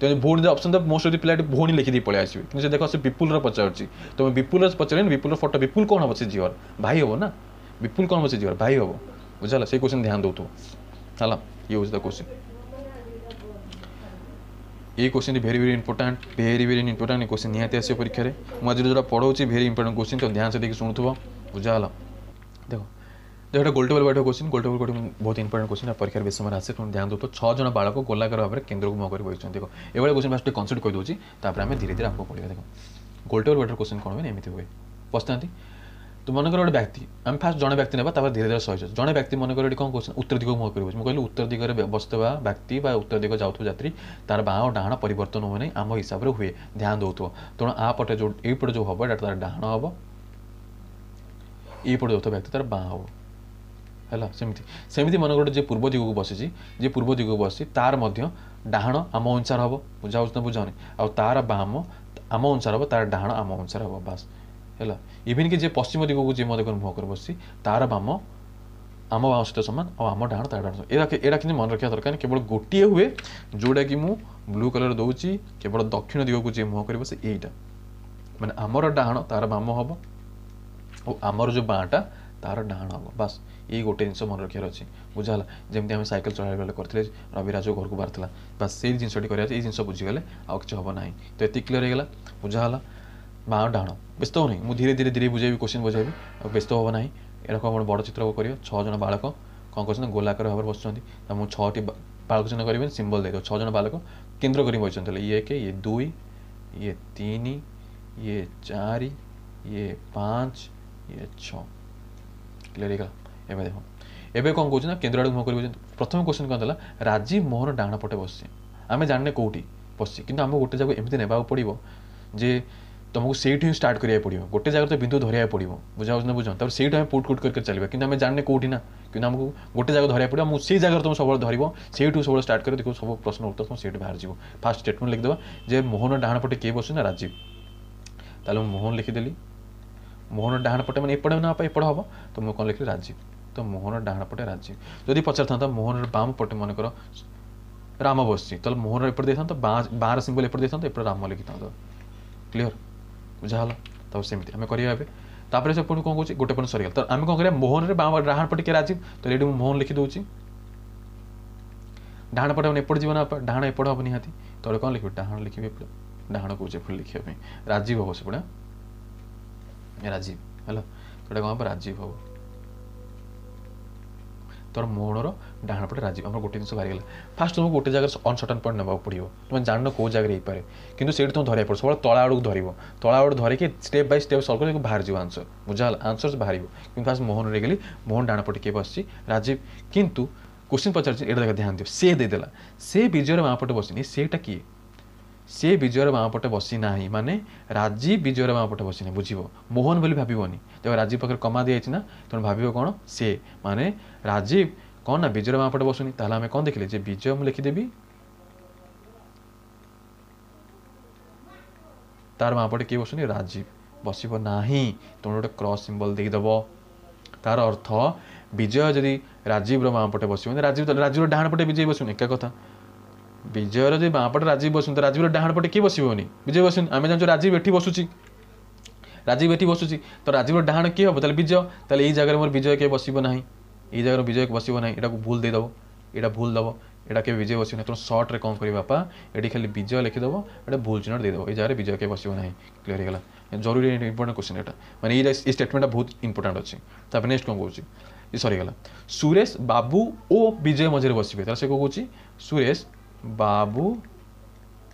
ତୁମେ ଭଉଣୀ ଅପସନ୍ ଦେବ ମୋଷ୍ଟ ଅଫ୍ ପିଲା ଏଠି ଭଉଣୀ ଲେଖିଦେଇ ପଳେଇ ଆସିବେ କିନ୍ତୁ ସେ ଦେଖ ସେ ବିପୁଲର ପଚାରୁଛି ତୁମେ ବିପୁଲର ପଚାରିଲେନି ବିପୁଲର ଫଟୋ ବିପୁଲ କ'ଣ ହେବ ସେ ଝିଅର ଭାଇ ହେବ ନା ବିପୁଲ କ'ଣ ହେବ ସେ ଝିଅର ଭାଇ ହେବ ବୁଝାଲା ସେଇ କୋଶ୍ଚିନ୍ ଧ୍ୟାନ ଦେଉଥିବ ହେଲା ଇଏ ହେଉଛି ତା କୋଶ୍ଚିନ୍ ଏଇ କୋଶ୍ଚିନ୍ଟି very very important very very important ଏ କୋଶ୍ଚିନ୍ ନିହାତି ଆସିବ ପରୀକ୍ଷାରେ ମୁଁ ଆଜି ଯେଉଁଟା ପଢ଼ଉଛି ଭେରି ଇମ୍ପୋର୍ଟାଣ୍ଟ କୋଶ୍ଚିନ୍ ତ ଧ୍ୟାନ ସେ ଦେଇକି ଶୁଣୁଥିବ ବୁଝା ହେଲା ଦେଖ ଦେଖ ଏଇଟା ଗୋଲଟେବଲ୍ ବୈଠକ କୋଶ୍ଚିନ୍ ଗୋଲଟେବଲ୍ ବୈଠକ ବହୁତ ଇମ୍ପୋର୍ଟାଣ୍ଟ କୋଶ୍ଚିନ୍ ଆଉ ପରୀକ୍ଷାରେ ବେଶୀ ସମୟରେ ଆସେ ତେଣୁ ଧ୍ୟାନ ଦେଉଥିବ ଛଅ ଜଣ ବାଳକ ଗୋଲାକାର ଭାବରେ କେନ୍ଦ୍ରକୁ ମୁହଁ କରି ବସିଛନ୍ତି ଦେଖ ଏଭଳିଆ କୋଶ୍ଚିନ୍ ଫାଷ୍ଟ ଟିକେ କନସେପ୍ଟ କହିଦେଉଛି ତାପରେ ଆମେ ଧୀରେ ଧୀରେ ଆଗକୁ ପଢ଼ିବା ଦେଖ ଗୋଲଟେବଲ୍ ବୈଠକ କୋଶ୍ଚିନ୍ କ'ଣ ହୁଏ ନା ଏମିତି ହୁଏ ବସିଥାନ୍ତି ତ ମନେକର ଗୋଟେ ବ୍ୟକ୍ତି ଆମେ ଫାଷ୍ଟ ଜଣେ ବ୍ୟକ୍ତି ନେବା ତାପରେ ଧୀରେ ଧୀରେ ସହିଜ ଜଣେ ବ୍ୟକ୍ତି ମନେକର ଏଠି କ'ଣ କହୁଛନ୍ତି ଉତ୍ତର ଦିଗକୁ ମୁହଁ କରି ବସିଛି ମୁଁ କହିଲି ଉତ୍ତର ଦିଗରେ ବସିଥିବା ବ୍ୟକ୍ତି ବା ଉତ୍ତର ଦିଗ ଯାଉଥିବା ଯାତ୍ରୀ ତାର ବାଁ ଓ ଡାହାଣ ପରିବର୍ତ୍ତନ ହୁଏ ନାହିଁ ଆମ ହିସାବରେ ହୁଏ ଧ୍ୟାନ ଦେଉଥିବ ତେଣୁ ଆ ପଟେ ଯେଉଁ ଏଇପଟେ ଯେଉଁ ହେବ ଏଇଟା ତାର ଡାହାଣ ହେବ ଏଇପଟେ ଯାଉଥିବା ବ୍ୟକ୍ତି ତାର ବାଁ ହେବ ହେଲା ସେମିତି ସେମିତି ମନେକର ଗୋଟେ ଯିଏ ପୂର୍ବ ଦିଗକୁ ବସିଛି ଯିଏ ପୂର୍ବ ଦିଗକୁ ବସିଛି ତାର ମଧ୍ୟ ଡାହାଣ ଆମ ଅନୁସାରେ ହେବ ବୁଝା ହେଉଛି ନା ବୁଝାଉନି ଆଉ ତାର ବାମ ଆମ ଅନୁସାରେ ହେବ ତାର ଡାହାଣ ଆମ ଅନୁସାରେ ହେବ ବାସ୍ ହେଲା ଇଭିନ୍ କି ଯିଏ ପଶ୍ଚିମ ଦିଗକୁ ଯିଏ ମଧ୍ୟ ମୁହଁ କରି ବସିଛି ତାର ବାମ ଆମ ବାମ ସହିତ ସମାନ ଆଉ ଆମ ଡାହାଣ ତାର ଡାହାଣ ଏଇଟା ଏଇଟା କିନ୍ତୁ ମନେ ରଖିବା ଦରକାର କେବଳ ଗୋଟିଏ ହୁଏ ଯେଉଁଟାକି ମୁଁ ବ୍ଲୁ କଲର୍ ଦେଉଛି କେବଳ ଦକ୍ଷିଣ ଦିଗକୁ ଯିଏ ମୁହଁ କରିବ ସେ ଏଇଟା ମାନେ ଆମର ଡାହାଣ ତାର ବାମ ହେବ ଆଉ ଆମର ଯେଉଁ ବାଁଟା ତାର ଡାହାଣ ହେବ ବାସ୍ ଏଇ ଗୋଟେ ଜିନିଷ ମନେ ରଖିବାର ଅଛି ବୁଝା ହେଲା ଯେମିତି ଆମେ ସାଇକେଲ ଚଳାଇବା ବେଳେ କରିଥିଲେ ରବିରାଜ ଘରକୁ ବାହାରିଥିଲା ବାସ୍ ସେଇ ଜିନିଷଟି କରିବାର ଅଛି ଏଇ ଜିନିଷ ବୁଝିଗଲେ ଆଉ କିଛି ହେବ ନାହିଁ ତ ଏତିକି କ୍ଲିୟର ହେଇଗଲା ବୁଝା ହେଲା ବାଁ ଡାହାଣ ବ୍ୟସ୍ତ ହେଉ ନାହିଁ ମୁଁ ଧୀରେ ଧୀରେ ଧୀରେ ବୁଝେଇବି କୋଶ୍ଚିନ୍ ବୁଝେଇବି ଆଉ ବ୍ୟସ୍ତ ହେବ ନାହିଁ ଏଇଟା କ'ଣ ବଡ଼ ଚିତ୍ର କରିବ ଛଅ ଜଣ ବାଳକ କ'ଣ କରୁଛନ୍ତି ଗୋଲାକାର ଭାବରେ ବସୁଛନ୍ତି ତ ମୁଁ ଛଅଟି ବାଳକ ଚିହ୍ନ କରିବେନି ସିମ୍ବଲ୍ ଦେଇଦେବ ଛଅ ଜଣ ବାଳକ କେନ୍ଦ୍ର କରି ବସିଛନ୍ତି ତାହେଲେ ଇଏ ଏକ ଇଏ ଦୁଇ ଇଏ ତିନି ଇଏ ଚାରି ଇଏ ପାଞ୍ଚ ଇଏ ଛଅ କ୍ଲିୟର ହେଇଗଲା ଏବେ ଦେଖ ଏବେ କ'ଣ କହୁଛି ନା କେନ୍ଦ୍ର ଆଡ଼କୁ ମୁହଁ କରିବ ପ୍ରଥମ କ୍ୱେଶ୍ଚନ୍ କ'ଣ ଦେଲା ରାଜୀବ ମୋହନ ଡାହାଣ ପଟେ ବସିଛି ଆମେ ଜାଣିନେ କେଉଁଠି ବସିଛି କିନ୍ତୁ ଆମକୁ ଗୋଟେ ଜାଗାକୁ ଏମିତି ନେବାକୁ ପଡ଼ିବ ଯେ ତୁମକୁ ସେଇଠୁ ହିଁ ଷ୍ଟାର୍ଟ କରିବାକୁ ପଡ଼ିବ ଗୋଟେ ଜାଗାରେ ତ ବିନ୍ଦୁ ଧରିବାକୁ ପଡ଼ିବ ବୁଝା ହେଉଛି ନା ବୁଝ ତାପରେ ସେଇଠୁ ଆମେ ପୁଟ୍ କୁଟ୍ କରି କରି ଚାଲିବା କିନ୍ତୁ ଆମେ ଜାଣିନେ କେଉଁଠି ନା କିନ୍ତୁ ଆମକୁ ଗୋଟେ ଜାଗା ଧରିବାକୁ ପଡ଼ିବ ମୁଁ ସେଇ ଜାଗାରେ ତୁମେ ସବୁବେଳେ ଧରିବ ସେଇଠୁ ସବୁବେଳେ ଷ୍ଟାର୍ଟ କରିବ ଦେଖିବ ସବୁ ପ୍ରଶ୍ନ ଉତ୍ତର ତୁମ ସେଇଠୁ ବାହାରିଯିବ ଫାର୍ଷ୍ଟ ଷ୍ଟେଟମେଣ୍ଟ ଲେଖିଦେବା ଯେ ମୋହନ ଡାହାଣ ପଟେ କିଏ ବସୁଛି ନା ରାଜୀବ ତାହେଲେ ମୁଁ ମୋହନ ଲେଖିଦେଲି ମୋହନ ଡାହାଣ ପଟେ ମାନେ ଏପଟେ ନା ଏପଟେ ହେବ ତ ମୁଁ କ'ଣ ଲେଖିଲି ରାଜୀବ ତ ମୋହନ ଡାହାଣ ପଟେ ରାଜୀବ ଯଦି ପଚାରିଥାନ୍ତା ମୋହନର ବାମ ପଟେ ମନେକର ରାମ ବସିଛି ତାହେଲେ ମୋହନର ଏପଟେ ଦେଇଥାନ୍ତ ବାଁ ବାଁର ସିମ୍ବଲ ଏପଟେ ଦେଇଥାନ୍ତ ଏପଟେ ରାମ ଲେଖିଥାନ୍ତ କ୍ଲିଅର ବୁଝା ହେଲା ତାପରେ ସେମିତି ଆମେ କରିବା ଏବେ ତାପରେ ସେ ପୁଣି କ'ଣ କହୁଛି ଗୋଟେ ପଏଣ୍ଟ ସରିଗଲା ତ ଆମେ କ'ଣ କରିବା ମୋହନରେ ବାଁ ଡାହାଣ ପଟେ କିଏ ରାଜୀବ ତ ଏଇଠି ମୁଁ ମୋହନ ଲେଖିଦେଉଛି ଡାହାଣ ପଟେ ମାନେ ଏପଟେ ଯିବ ନା ଡାହାଣ ଏପଟେ ହେବ ନିହାତି ତଳେ କ'ଣ ଲେଖିବି ଡାହାଣ ଲେଖିବି ଏପଟେ ଡାହାଣ କହୁଛି ଏପଟେ ଲେଖିବା ପାଇଁ ରାଜୀବ ହେବ ସେପଟେ ରାଜୀବ ହେଲା ତ ଏଇଟା କ'ଣ ହେବ ରାଜୀବ ହେବ ତୋର ମୋହନର ଡାହାଣ ପଟେ ରାଜୀବ ଆମର ଗୋଟେ ଜିନିଷ ବାହାରିଗଲା ଫାଷ୍ଟ ତୁମକୁ ଗୋଟେ ଜାଗାରେ ଅନସର୍ଟନ୍ ପଏଣ୍ଟ ନେବାକୁ ପଡ଼ିବ ତୁମେ ଜାଣିନ କେଉଁ ଜାଗାରେ ହେଇପାରେ କିନ୍ତୁ ସେଇଠି ତୁମେ ଧରିବାକୁ ପଡ଼ିବ ସବୁବେଳେ ତଳ ଆଡ଼କୁ ଧରିବ ତଳ ଆଡ଼କୁ ଧରିକି ଷ୍ଟେପ୍ ବାଇ ଷ୍ଟେପ୍ ସଲ୍ଭ କରି ବାହାରିଯିବ ଆନ୍ସର୍ ବୁଝା ହେଲା ଆନ୍ସର୍ ବାହାରିବ କିନ୍ତୁ ଫାଷ୍ଟ ମୋହନରେ ଗଲି ମୋହନ ଡାହାଣ ପଟେ କିଏ ବସିଛି ରାଜୀବ କିନ୍ତୁ କୋଶ୍ଚିନ୍ ପଚାରିଛି ଏଇଟା ଦେଖ ଧ୍ୟାନ ଦିଅ ସେ ଦେଇଦେଲା ସେ ବିଜୟର ବାଁ ପଟେ ବସିନି ସେଇଟା କିଏ ସେ ବିଜୟର ବାଁ ପଟେ ବସି ନାହିଁ ମାନେ ରାଜୀବ ବିଜୟର ବାଁ ପଟେ ବସିନି ବୁଝିବ ମୋହନ ବୋଲି ଭାବିବନି ଦେଖ ରାଜୀବ ପାଖରେ କମା ଦିଆଯାଇଛି ନା ତେଣୁ ଭାବିବ କ'ଣ ସେ ମାନେ ରାଜୀବ କ'ଣ ନା ବିଜୟର ବାଁ ପଟେ ବସୁନି ତାହେଲେ ଆମେ କ'ଣ ଦେଖିଲେ ଯେ ବିଜୟ ମୁଁ ଲେଖିଦେବି ତାର ବାଁ ପଟେ କିଏ ବସୁନି ରାଜୀବ ବସିବ ନାହିଁ ତେଣୁ ଗୋଟେ କ୍ରସ୍ ସିମ୍ବଲ ଦେଇଦେବ ତାର ଅର୍ଥ ବିଜୟ ଯଦି ରାଜୀବର ବାଁ ପଟେ ବସିବନି ରାଜୀବ ରାଜୀବର ଡାହାଣ ପଟେ ବିଜୟ ବସୁନି ଏକା କଥା ବିଜୟର ଯଦି ବାଁ ପଟେ ରାଜୀବ ବସୁନି ତ ରାଜୀବର ଡାହାଣ ପଟେ କିଏ ବସିବନି ବିଜୟ ବସୁନି ଆମେ ଜାଣିଛୁ ରାଜୀବ ଏଠି ବସୁଛି ରାଜୀବ ଏଠି ବସୁଛି ତ ରାଜୀବର ଡାହାଣ କିଏ ହେବ ତାହେଲେ ବିଜୟ ତାହେଲେ ଏଇ ଜାଗାରେ ମୋର ବିଜୟ କିଏ ବସିବ ନାହିଁ ଏଇ ଜାଗାରେ ବିଜୟ ବସିବ ନାହିଁ ଏଟାକୁ ଭୁଲ ଦେଇଦେବ ଏଇଟା ଭୁଲ ଦେବ ଏଇଟା କେବେ ବିଜୟ ବସିବ ନାହିଁ ତେଣୁ ସର୍ଟରେ କ'ଣ କରିବ ବାପା ଏଠି ଖାଲି ବିଜୟ ଲେଖିଦେବ ଏଇଟା ଭୁଲ ଚିହ୍ନଟ ଦେଇଦେବ ଏଇ ଜାଗାରେ ବିଜୟ କେବେ ବସିବ ନାହିଁ କ୍ଲିୟର ହେଇଗଲା ଜରୁରୀ ଇମ୍ପୋର୍ଟାଣ୍ଟ କ୍ୱେଶ୍ଚନ୍ ଏଇଟା ମାନେ ଏଇ ଏଇ ଷ୍ଟେଟମେଣ୍ଟଟା ବହୁତ ଇମ୍ପୋର୍ଟାଣ୍ଟ ଅଛି ତାପରେ ନେକ୍ସଟ କ'ଣ କହୁଛି ଏ ସରିଗଲା ସୁରେଶ ବାବୁ ଓ ବିଜୟ ମଝିରେ ବସିବେ ତାହେଲେ ସେ କ'ଣ କହୁଛି ସୁରେଶ ବାବୁ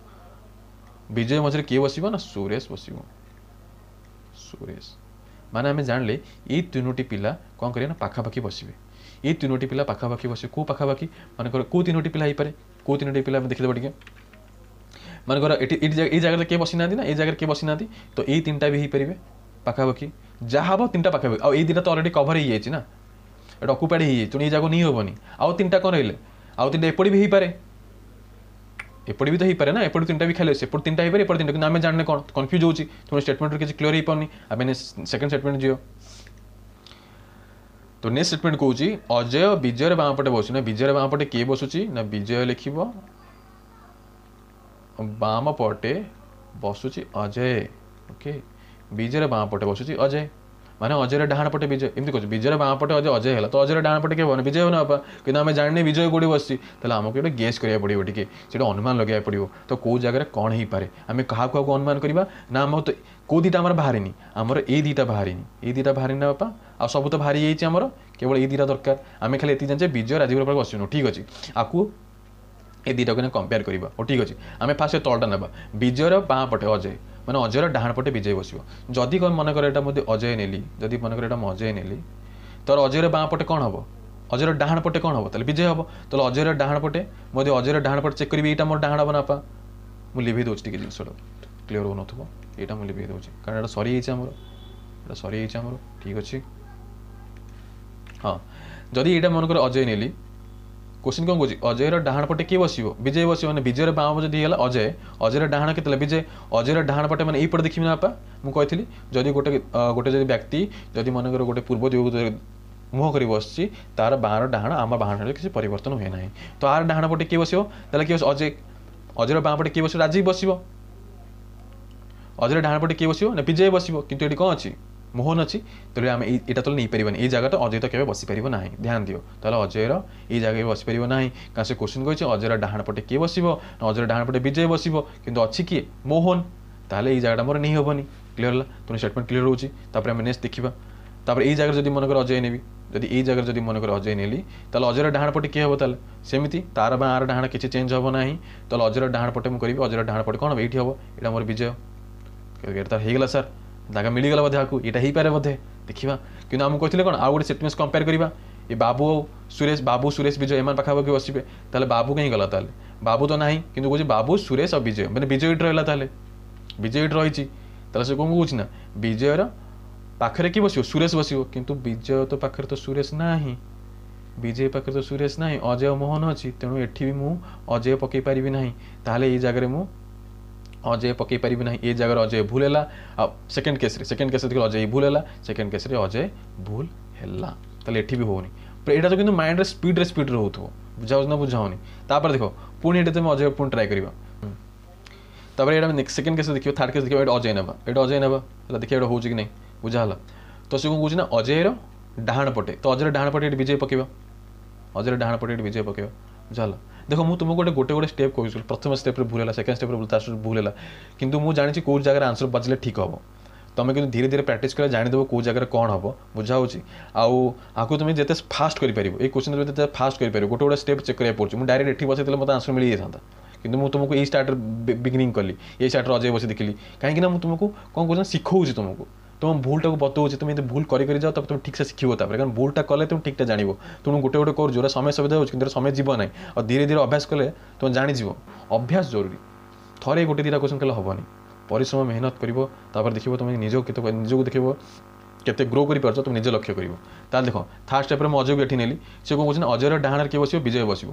ବିଜୟ ମଝିରେ କିଏ ବସିବ ନା ସୁରେଶ ବସିବ ସୁରେଶ ମାନେ ଆମେ ଜାଣିଲେ ଏଇ ତିନୋଟି ପିଲା କ'ଣ କରିବେ ନା ପାଖାପାଖି ବସିବେ ଏଇ ତିନୋଟି ପିଲା ପାଖାପାଖି ବସିବେ କେଉଁ ପାଖାପାଖି ମନେକର କେଉଁ ତିନୋଟି ପିଲା ହେଇପାରେ କେଉଁ ତିନୋଟି ପିଲା ଆମେ ଦେଖିଦେବା ଟିକେ ମନେକର ଏଠି ଏଇଠି ଏଇ ଜାଗାରେ କିଏ ବସିନାହାନ୍ତି ନା ଏଇ ଜାଗାରେ କିଏ ବସିନାହାନ୍ତି ତ ଏଇ ତିନିଟା ବି ହେଇପାରିବେ ପାଖାପାଖି ଯାହା ହେବ ତିନିଟା ପାଖାପାଖି ଆଉ ଏଇ ଦୁଇଟା ତ ଅଲରେଡ଼ି କଭର ହେଇଯାଇଛି ନା ଏଇଟା ଅକୁପାଇଡ଼ ହେଇଯାଇଛି ତେଣୁ ଏଇ ଜାଗାକୁ ନେଇ ହେବନି ଆଉ ତିନିଟା କ'ଣ ରହିଲେ ଆଉ ତିନିଟା ଏପଟେ ବି ହେଇପାରେ ଏପଟେ ବି ତ ହେଇପାରେ ନା ଏପଟେ ତିନିଟା ବି ଖାଲି ଅଛି ଏପଟେ ତିନିଟା ହେଇପାରେ ଏପଟେ ତିନିଟା କିନ୍ତୁ ଆମେ ଜାଣିନେ କ'ଣ କନଫ୍ୟୁଜ୍ ହେଉଛି ତେଣୁ ଷ୍ଟେଟମେଣ୍ଟରୁ କିଛି କ୍ଲିୟର ହେଇପାରୁନି ଆମେ ସେକେଣ୍ଡ ଷ୍ଟେଟମେଣ୍ଟ ଯିବ ତ ନେକ୍ସଟ ଷ୍ଟେଟମେଣ୍ଟ କହୁଛି ଅଜୟ ବିଜୟର ବାଁ ପଟେ ବସୁଛି ନା ବିଜୟର ବାଁ ପଟେ କିଏ ବସୁଛି ନା ବିଜୟ ଲେଖିବ ବାମ ପଟେ ବସୁଛି ଅଜୟ ଓକେ ବିଜୟର ବାଁ ପଟେ ବସୁଛି ଅଜୟ ମାନେ ଅଜୟର ଡାହାଣ ପଟେ ବିଜୟ ଏମିତି କହୁଛି ବିଜୟର ବାଁ ପଟେ ଅଜୟ ଅଜୟ ହେଲା ତ ଅଜୟର ଡାହାଣ ପଟେ କିଏ ହବନି ବିଜୟ ହେବ ନା ବାପା କିନ୍ତୁ ଆମେ ଜାଣିନେ ବିଜୟ କେଉଁଠି ବସିଛି ତାହେଲେ ଆମକୁ ଗୋଟେ ଗେସ୍ କରିବାକୁ ପଡ଼ିବ ଟିକେ ସେଇଟା ଅନୁମାନ ଲଗାଇବାକୁ ପଡ଼ିବ ତ କେଉଁ ଜାଗାରେ କ'ଣ ହେଇପାରେ ଆମେ କାହାକୁ କାହାକୁ ଅନୁମାନ କରିବା ନା ଆମ ତ କେଉଁ ଦୁଇଟା ଆମର ବାହାରିନି ଆମର ଏଇ ଦୁଇଟା ବାହାରିନି ଏଇ ଦୁଇଟା ବାହାରିନି ନା ବାପା ଆଉ ସବୁ ତ ବାହାରି ଯାଇଛି ଆମର କେବଳ ଏଇ ଦୁଇଟା ଦରକାର ଆମେ ଖାଲି ଏତିକି ଜାଣିଛେ ବିଜୟ ରାଜୀବ ପାଖରେ ବସିନୁ ଠିକ୍ ଅଛି ଆକୁ ଏ ଦୁଇଟାକୁ କମ୍ପେୟାର କରିବା ହଉ ଠିକ୍ ଅଛି ଆମେ ଫାଷ୍ଟ ତଳଟା ନେବା ବିଜୟର ବାଁ ପଟେ ଅଜୟ ମାନେ ଅଜୟର ଡାହାଣ ପଟେ ବିଜୟ ବସିବ ଯଦି କ'ଣ ମନେକର ଏଇଟା ମୁଁ ଅଜୟ ନେଲି ଯଦି ମନେକର ଏଇଟା ମୁଁ ଅଜୟ ନେଲି ତୋର ଅଜୟର ବାଁ ପଟେ କ'ଣ ହେବ ଅଜୟର ଡାହାଣ ପଟେ କ'ଣ ହେବ ତାହେଲେ ବିଜୟ ହେବ ତାହେଲେ ଅଜୟର ଡାହାଣ ପଟେ ମୁଁ ଯଦି ଅଜୟର ଡାହାଣ ପଟେ ଚେକ୍ କରିବି ଏଇଟା ମୋର ଡାହାଣ ହେବ ନା ବାପା ମୁଁ ଲିଭେଇ ଦେଉଛି ଟିକେ ଜିନିଷଟା କ୍ଲିୟର ହେଉନଥିବ ଏଇଟା ମୁଁ ଲିଭେଇ ଦେଉଛି କାରଣ ଏଇଟା ସରିଯାଇଛି ଆମର ଏଇଟା ସରିଯାଇଛି ଆମର ଠିକ୍ ଅଛି ହଁ ଯଦି ଏଇଟା ମନେକର ଅଜୟ ନେଲି କୋଶ୍ଚିନ୍ କ'ଣ କହୁଛି ଅଜୟର ଡାହାଣ ପଟେ କିଏ ବସିବ ବିଜୟ ବସିବ ମାନେ ବିଜୟର ବାଁ ଯଦି ହେଇଗଲା ଅଜୟ ଅଜୟର ଡାହାଣ କେତେ ହେଲା ବିଜୟ ଅଜୟର ଡାହାଣ ପଟେ ମାନେ ଏଇପଟେ ଦେଖିବି ନା ବାପା ମୁଁ କହିଥିଲି ଯଦି ଗୋଟେ ଗୋଟେ ଯଦି ବ୍ୟକ୍ତି ଯଦି ମନେକର ଗୋଟେ ପୂର୍ବ ଦିଗକୁ ମୁହଁ କରି ବସିଛି ତାର ବାଁର ଡାହାଣ ଆମ ବାହାଣରେ କିଛି ପରିବର୍ତ୍ତନ ହୁଏ ନାହିଁ ତ ଆର ଡାହାଣ ପଟେ କିଏ ବସିବ ତାହେଲେ କିଏ ବସିବ ଅଜୟ ଅଜୟର ବାଁ ପଟେ କିଏ ବସିବ ରାଜୀବ ବସିବ ଅଜୟର ଡାହାଣ ପଟେ କିଏ ବସିବ ନା ବିଜୟ ବସିବ କିନ୍ତୁ ଏଠି କ'ଣ ଅଛି ମୋହନ ଅଛି ତାହେଲେ ଆମେ ଏଇ ଏଇଟା ତାହେଲେ ନେଇପାରିବାନି ଏଇ ଜାଗାଟା ଅଜୟ ତ କେବେ ବସିପାରିବ ନାହିଁ ଧ୍ୟାନ ଦିଅ ତାହେଲେ ଅଜୟର ଏଇ ଜାଗାରେ ବସିପାରିବ ନାହିଁ କାରଣ ସେ କୋଶ୍ଚିନ୍ କହିଛି ଅଜୟର ଡାହାଣ ପଟେ କିଏ ବସିବ ନା ଅଜୟର ଡାହାଣ ପଟେ ବିଜୟ ବସିବ କିନ୍ତୁ ଅଛି କିଏ ମୋହନ ତାହେଲେ ଏଇ ଜାଗାଟା ମୋର ନେଇ ହେବନି କ୍ଲିୟର ହେଲା ତେଣୁ ଷ୍ଟେଟମେଣ୍ଟ କ୍ଲିୟର ହେଉଛି ତାପରେ ଆମେ ନେକ୍ସଟ ଦେଖିବା ତାପରେ ଏଇ ଜାଗାରେ ଯଦି ମନେକର ଅଜୟ ନେବି ଯଦି ଏଇ ଜାଗାରେ ଯଦି ମନେକର ଅଜୟ ନେଲି ତାହେଲେ ଅଜୟର ଡାହାଣ ପଟେ କିଏ ହେବ ତାହେଲେ ସେମିତି ତାର ବା ଆର ଡାହାଣ କିଛି ଚେଞ୍ଜ ହେବ ନାହିଁ ତାହେଲେ ଅଜୟର ଡାହାଣ ପଟେ ମୁଁ କରିବି ଅଜୟର ଡାହାଣ ପଟେ କ'ଣ ହେବ ଏଇଠି ହେବ ଏଇଟା ମୋର ବିଜୟ ଏଇଟା ତ ହେଇଗଲା ସାର୍ ଜାଗା ମିଳିଗଲା ବୋଧେ ଆକୁ ଏଇଟା ହେଇପାରେ ବୋଧେ ଦେଖିବା କିନ୍ତୁ ଆମକୁ କହିଥିଲେ କ'ଣ ଆଉ ଗୋଟେ ସିକ୍ୱେନ୍ସ କମ୍ପେୟାର କରିବା ଏ ବାବୁ ଆଉ ସୁରେଶ ବାବୁ ସୁରେଶ ବିଜୟ ଏମାନେ ପାଖାପାଖି ବସିବେ ତାହେଲେ ବାବୁ କାହିଁ ଗଲା ତାହେଲେ ବାବୁ ତ ନାହିଁ କିନ୍ତୁ କହୁଛି ବାବୁ ସୁରେଶ ଆଉ ବିଜୟ ମାନେ ବିଜୟ ଏଇଠି ରହିଲା ତାହେଲେ ବିଜୟ ଏଇଠି ରହିଛି ତାହେଲେ ସେ କ'ଣ କହୁଛି ନା ବିଜୟର ପାଖରେ କିଏ ବସିବ ସୁରେଶ ବସିବ କିନ୍ତୁ ବିଜୟ ତ ପାଖରେ ତ ସୁରେଶ ନାହିଁ ବିଜୟ ପାଖରେ ତ ସୁରେଶ ନାହିଁ ଅଜୟ ମୋହନ ଅଛି ତେଣୁ ଏଠି ବି ମୁଁ ଅଜୟ ପକାଇ ପାରିବି ନାହିଁ ତାହେଲେ ଏଇ ଜାଗାରେ ମୁଁ ଅଜୟ ପକାଇ ପାରିବି ନାହିଁ ଏ ଜାଗାରେ ଅଜୟ ଭୁଲ ହେଲା ଆଉ ସେକେଣ୍ଡ କେସ୍ରେ ସେକେଣ୍ଡ କେସ୍ରେ ଦେଖିଲେ ଅଜୟ ଭୁଲ ହେଲା ସେକେଣ୍ଡ କେସ୍ରେ ଅଜୟ ଭୁଲ ହେଲା ତାହେଲେ ଏଠି ବି ହେଉନି ଏଇଟା ତ କିନ୍ତୁ ମାଇଣ୍ଡରେ ସ୍ପିଡ଼ରେ ସ୍ପିଡ଼ରେ ହେଉଥିବ ବୁଝା ହେଉଛି ନା ବୁଝା ହେଉନି ତାପରେ ଦେଖ ପୁଣି ଏଠି ତୁମେ ଅଜୟ ପୁଣି ଟ୍ରାଏ କରିବା ତାପରେ ଏଇଟା ସେକେଣ୍ଡ କେସ୍ରେ ଦେଖିବ ଥାର୍ଡ଼ କେସ୍ ଦେଖିବ ଏଇଟା ଅଜୟ ନେବା ଏଇଟା ଅଜୟ ନେବା ହେଲା ଦେଖିବା ଏଇଟା ହେଉଛି କି ନାହିଁ ବୁଝା ହେଲା ତ ସେ କ'ଣ କହୁଛି ନା ଅଜୟର ଡାହାଣ ପଟେ ତ ଅଜୟର ଡାହାଣ ପଟେ ଏଠି ବିଜୟ ପକାଇବା ଅଜୟର ଡାହାଣ ପଟେ ଏଠି ବିଜୟ ପକାଇବା ବୁଝା ହେଲା ଦେଖ ମୁଁ ତୁମକୁ ଗୋଟେ ଗୋଟେ ଗୋଟେ ଷ୍ଟେପ୍ କହୁଛି ପ୍ରଥମ ଷ୍ଟେପ୍ରେ ଭୁଲ ହେଲା ସେକେଣ୍ଡ ଷ୍ଟେପ୍ରେ ଭୁଲ ତା ଭୁଲ ହେଲା କିନ୍ତୁ ମୁଁ ଜାଣିଛି କେଉଁ ଜାଗାରେ ଆନ୍ସର୍ ବାଜିଲେ ଠିକ୍ ହେବ ତୁମେ କିନ୍ତୁ ଧୀରେ ଧୀରେ ପ୍ରାକ୍ଟିସ୍ କଲେ ଜାଣିଦେବ କେଉଁ ଜାଗାରେ କ'ଣ ହେବ ବୁଝା ହେଉଛି ଆଉ ଆକୁ ତୁମେ ଯେତେ ଫାଷ୍ଟ କରିପାରିବ ଏଇ କୋଶ୍ଚିନ୍ ତୁମେ ଯେତେ ଫାଷ୍ଟ କରିପାରିବ ଗୋଟେ ଗୋଟେ ଷ୍ଟେପ୍ ଚେକ୍ କରିବାକୁ ପଡ଼ୁଛି ମୁଁ ଡାଇରେକ୍ଟ ଏଠି ବସେଇଥିଲେ ମୋତେ ଆନ୍ସର୍ ମିଳିଯାଇଥାନ୍ତା କିନ୍ତୁ ମୁଁ ତୁମକୁ ଏଇ ଷ୍ଟାର୍ଟରେ ବିଗିନିଂ କଲି ଏଇ ଷ୍ଟାର୍ଟରେ ଅଜୟ ବସି ଦେଖିଲି କାହିଁକିନା ମୁଁ ତୁମକୁ କ'ଣ କହୁଛି ନା ଶିଖଉଛି ତୁମକୁ ତୁମ ଭୁଲଟାକୁ ବତଉଛି ତୁମେ ଏମିତି ଭୁଲ କରି କରି ଯାଅ ତାପରେ ତୁମେ ଠିକ୍ସେ ଶିଖିବ ତାପରେ କାରଣ ଭୁଲଟା କଲେ ତୁମେ ଠିକ୍ଟା ଜାଣିବ ତେଣୁ ଗୋଟେ ଗୋଟେ କରୁଛ ଯେଉଁଟା ସମୟ ସୁବିଧା ହେଉଛି କିନ୍ତୁ ସମୟ ଯିବ ନାହିଁ ଆଉ ଧୀରେ ଧୀରେ ଅଭ୍ୟାସ କଲେ ତୁମେ ଜାଣିଯିବ ଅଭ୍ୟାସ ଜରୁରୀ ଥରେ ଗୋଟେ ଦୁଇଟା କୋଶ୍ଚିନ୍ କଲେ ହେବନି ପରିଶ୍ରମ ମେହନତ କରିବ ତାପରେ ଦେଖିବ ତୁମେ ନିଜକୁ କେତେ ନିଜକୁ ଦେଖିବ କେତେ ଗ୍ରୋ କରିପାରୁଛ ତୁମେ ନିଜେ ଲକ୍ଷ୍ୟ କରିବ ତାହେଲେ ଦେଖ ଥାର୍ଡ଼ ଷ୍ଟେପ୍ରେ ମୁଁ ଅଜୟକୁ ଏଠି ନେଲି ସେ କ'ଣ କହୁଛି ନା ଅଜୟର ଡାହାଣରେ କିଏ ବସିବ ବିଜୟ ବସିବ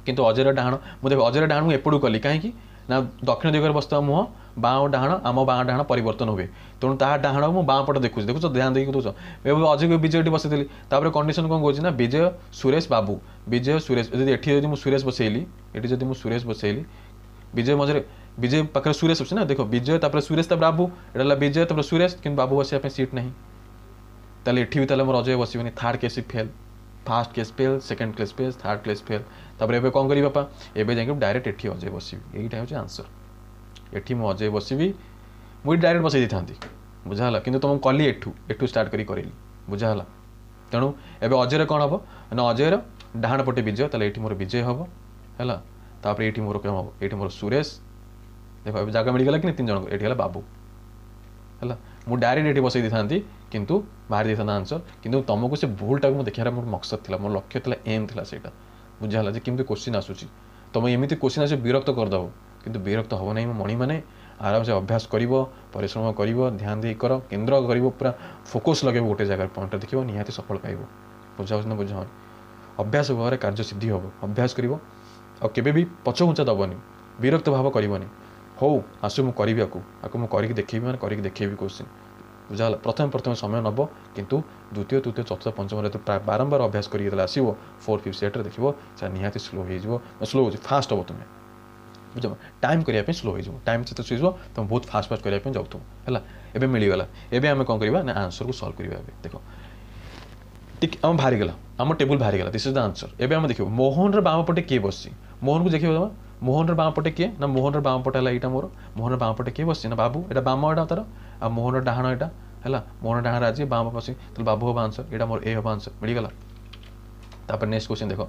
କିନ୍ତୁ ଅଜୟର ଡାହାଣ ମୁଁ ଦେଖ ଅଜୟର ଡାହାଣ ମୁଁ ଏପଟକୁ କଲି କାହିଁକି ନା ଦକ୍ଷିଣ ଦିଗରେ ବସିଥିବା ମୁହଁ ବାଁ ଓ ଡାହାଣ ଆମ ବାଁ ଡାହାଣ ପରିବର୍ତ୍ତନ ହୁଏ ତେଣୁ ତାହା ଡାହାଣ ମୁଁ ବାଁ ପଟେ ଦେଖୁଛି ଦେଖୁଛ ଧ୍ୟାନ ଦେଇକି ଦେଖୁଛ ଏବେ ଅଜୟକୁ ବିଜୟ ଏଠି ବସେଇଦେଲି ତାପରେ କଣ୍ଡିସନ୍ କ'ଣ କହୁଛି ନା ବିଜୟ ସୁରେଶ ବାବୁ ବିଜୟ ସୁରେଶ ଯଦି ଏଠି ଯଦି ମୁଁ ସୁରେଶ ବସେଇଲି ଏଠି ଯଦି ମୁଁ ସୁରେଶ ବସେଇଲି ବିଜୟ ମଝିରେ ବିଜୟ ପାଖରେ ସୁରେଶ ଅଛି ନା ଦେଖ ବିଜୟ ତାପରେ ସୁରେଶ ତାପରେ ବାବୁ ଏଇଟା ହେଲା ବିଜୟ ତାପରେ ସୁରେଶ କିନ୍ତୁ ବାବୁ ବସିବା ପାଇଁ ସିଟ୍ ନାହିଁ ତାହେଲେ ଏଠି ବି ତାହେଲେ ମୋର Ajay ବସିବନି third case fail first case fail second case fail third case fail ତାପରେ ଏବେ କ'ଣ କରିବି ବାପା ଏବେ ଯାଇକି ଡାଇରେକ୍ଟ ଏଠି ଅଜୟ ବସିବି ଏଇଟା ହେଉଛି ଆନ୍ସର୍ ଏଠି ମୁଁ ଅଜୟ ବସିବି ମୁଁ ଏଠି ଡାଇରେକ୍ଟ ବସେଇ ଦେଇଥାନ୍ତି ବୁଝା ହେଲା କିନ୍ତୁ ତୁମକୁ କଲି ଏଠୁ ଏଠୁ ଷ୍ଟାର୍ଟ କରି କରିଲି ବୁଝା ହେଲା ତେଣୁ ଏବେ ଅଜୟରେ କ'ଣ ହେବ ନା ଅଜୟର ଡାହାଣ ପଟେ ବିଜୟ ତାହେଲେ ଏଇଠି ମୋର ବିଜୟ ହେବ ହେଲା ତାପରେ ଏଇଠି ମୋର କ'ଣ ହେବ ଏଇଠି ମୋର ସୁରେଶ ଦେଖ ଏବେ ଜାଗା ମିଳିଗଲା କି ତିନି ଜଣଙ୍କୁ ଏଇଠି ହେଲା ବାବୁ ହେଲା ମୁଁ ଡାଇରେକ୍ଟ ଏଠି ବସେଇ ଦେଇଥାନ୍ତି କିନ୍ତୁ ବାହାରି ଦେଇଥାନ୍ତା ଆନ୍ସର୍ କିନ୍ତୁ ତୁମକୁ ସେ ଭୁଲଟାକୁ ମୁଁ ଦେଖିବାର ମୋର ମକସଦ ଥିଲା ମୋର ଲକ୍ଷ୍ୟ ଥିଲା ଏମ୍ ଥିଲା ସେଇଟା ବୁଝା ହେଲା ଯେ କେମିତି କୋଶ୍ଚିନ୍ ଆସୁଛି ତୁମେ ଏମିତି କୋଶ୍ଚିନ୍ ଆସିବ ବିରକ୍ତ କରିଦେବ କିନ୍ତୁ ବିରକ୍ତ ହେବ ନାହିଁ ମୋ ମଣିମାନେ ଆରାମସେ ଅଭ୍ୟାସ କରିବ ପରିଶ୍ରମ କରିବ ଧ୍ୟାନ ଦେଇ କର କେନ୍ଦ୍ର କରିବ ପୁରା ଫୋକସ୍ ଲଗେଇବ ଗୋଟେ ଜାଗାରେ ପଏଣ୍ଟଟା ଦେଖିବ ନିହାତି ସଫଳ ପାଇବ ବୁଝା ହେଉଛି ନା ବୁଝା ହେଉନି ଅଭ୍ୟାସ ଭାବରେ କାର୍ଯ୍ୟ ସିଦ୍ଧି ହେବ ଅଭ୍ୟାସ କରିବ ଆଉ କେବେ ବି ପଛଘୁଞ୍ଚା ଦେବନି ବିରକ୍ତ ଭାବ କରିବନି ହଉ ଆସୁ ମୁଁ କରିବି ଆକୁ ଆକୁ ମୁଁ କରିକି ଦେଖେଇବି ମାନେ କରିକି ଦେଖେଇବି କୋଶ୍ଚିନ୍ ବୁଝା ହେଲା ପ୍ରଥମେ ପ୍ରଥମେ ସମୟ ନେବ କିନ୍ତୁ ଦ୍ୱିତୀୟ ତୃତୀୟ ଚତୁର୍ଥ ପଞ୍ଚମରେ ଯେତେବେଳେ ବାରମ୍ବାର ଅଭ୍ୟାସ କରିକି ଯେତେବେଳେ ଆସିବ ଫୋର୍ ଫିଫ୍ଥ ସେଟ୍ରେ ଦେଖିବ ସେଟା ନିହାତି ସ୍ଲୋ ହେଇଯିବ ସ୍ଲୋ ହେଉଛି ଫାଷ୍ଟ ହେବ ତୁମେ ବୁଝିଲ ଟାଇମ୍ କରିବା ପାଇଁ ସ୍ଲୋ ହେଇଯିବ ଟାଇମ୍ ଯେତେ ହେଇଯିବ ତୁମେ ବହୁତ ଫାଷ୍ଟ ଫାଷ୍ଟ କରିବା ପାଇଁ ଯାଉଥିବ ହେଲା ଏବେ ମିଳିଗଲା ଏବେ ଆମେ କ'ଣ କରିବା ନା ଆନ୍ସର୍କୁ ସଲ୍ଭ କରିବା ଏବେ ଦେଖ ଟିକେ ଆମ ବାହାରିଗଲା ଆମ ଟେବୁଲ୍ ବାହାରିଗଲା this is the answer ଏବେ ଆମେ ଦେଖିବ ମୋହନର ବାମ ପଟେ କିଏ ବସିଛି ମୋହନକୁ ଦେଖିବ ତମେ ମୋହନର ବାମ ପଟେ କିଏ ନା ମୋହନର ବାମ ପଟେ ହେଲା ଏଇଟା ମୋର ମୋହନର ବାମ ପଟେ କିଏ ବସିଛି ନା ବାବୁ ଏଇଟା ବାମ ଏଇଟା ତାର ଆଉ ମୋହନର ଡାହାଣ ଏଇଟା ହେଲା ମୋହନ ଡାହାଣ ରାଜି ବାମ ବସି ତାହେଲେ ବାବୁ ହେବ ଆନ୍ସର୍ ଏଇଟା ମୋର ଏ ହେବ ଆନ୍ସର୍ ମିଳିଗଲା ତାପରେ ନେକ୍ସଟ କ୍ୱେଶ୍ଚିନ୍ ଦେଖ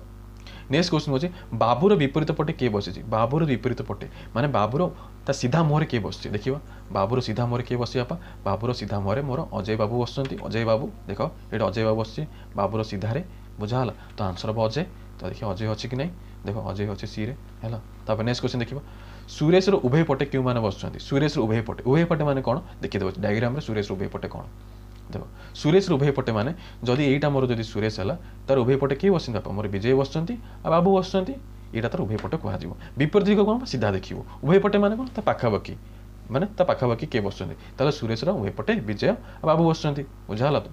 ନେକ୍ସଟ କ୍ୱେଶ୍ଚିନ୍ ହେଉଛି ବାବୁର ବିପରୀତ ପଟେ କିଏ ବସିଛି ବାବୁର ବିପରୀତ ପଟେ ମାନେ ବାବୁର ତା ସିଧା ମୁହଁରେ କିଏ ବସିଛି ଦେଖିବା ବାବୁର ସିଧା ମୁହଁରେ କିଏ ବସିଛି ବାପା ବାବୁର ସିଧା ମୁହଁରେ ମୋର ଅଜୟ ବାବୁ ବସୁଛନ୍ତି ଅଜୟ ବାବୁ ଦେଖ ଏଇଠି ଅଜୟ ବାବୁ ବସିଛି ବାବୁର ସିଧାରେ ବୁଝା ହେଲା ତ ଆନ୍ସର୍ ହେବ ଅଜୟ ତ ଦେଖିବା ଅଜୟ ଅଛି କି ନାହିଁ ଦେଖ ଅଜୟ ଅଛି ସିରେ ହେଲା ତାପରେ ନେକ୍ସଟ କ୍ୱେଶ୍ଚିନ୍ ଦେଖିବା ସୁରେଶର ଉଭୟ ପଟେ କେଉଁମାନେ ବସୁଛନ୍ତି ସୁରେଶର ଉଭୟ ପଟେ ଉଭୟ ପଟେ ମାନେ କ'ଣ ଦେଖିଦେବ ଡାଇଗ୍ରାମରେ ସୁରେଶର ଉଭୟ ପଟେ କ'ଣ ଦେଖ ସୁରେଶର ଉଭୟ ପଟେ ମାନେ ଯଦି ଏଇଟା ମୋର ଯଦି ସୁରେଶ ହେଲା ତାର ଉଭୟ ପଟେ କିଏ ବସିଛନ୍ତି ବାପା ମୋର ବିଜୟ ବସୁଛନ୍ତି ଆଉ ବାବୁ ବସୁଛନ୍ତି ଏଇଟା ତାର ଉଭୟ ପଟେ କୁହାଯିବ ବିପରୀତ ଦିଗ କ'ଣ ସିଧା ଦେଖିବ ଉଭୟ ପଟେ ମାନେ କ'ଣ ତା ପାଖାପାଖି ମାନେ ତା ପାଖାପାଖି କିଏ ବସୁଛନ୍ତି ତାହେଲେ ସୁରେଶର ଉଭୟ ପଟେ ବିଜୟ ଆଉ ବାବୁ ବସୁଛନ୍ତି ବୁଝା ହେଲା ତ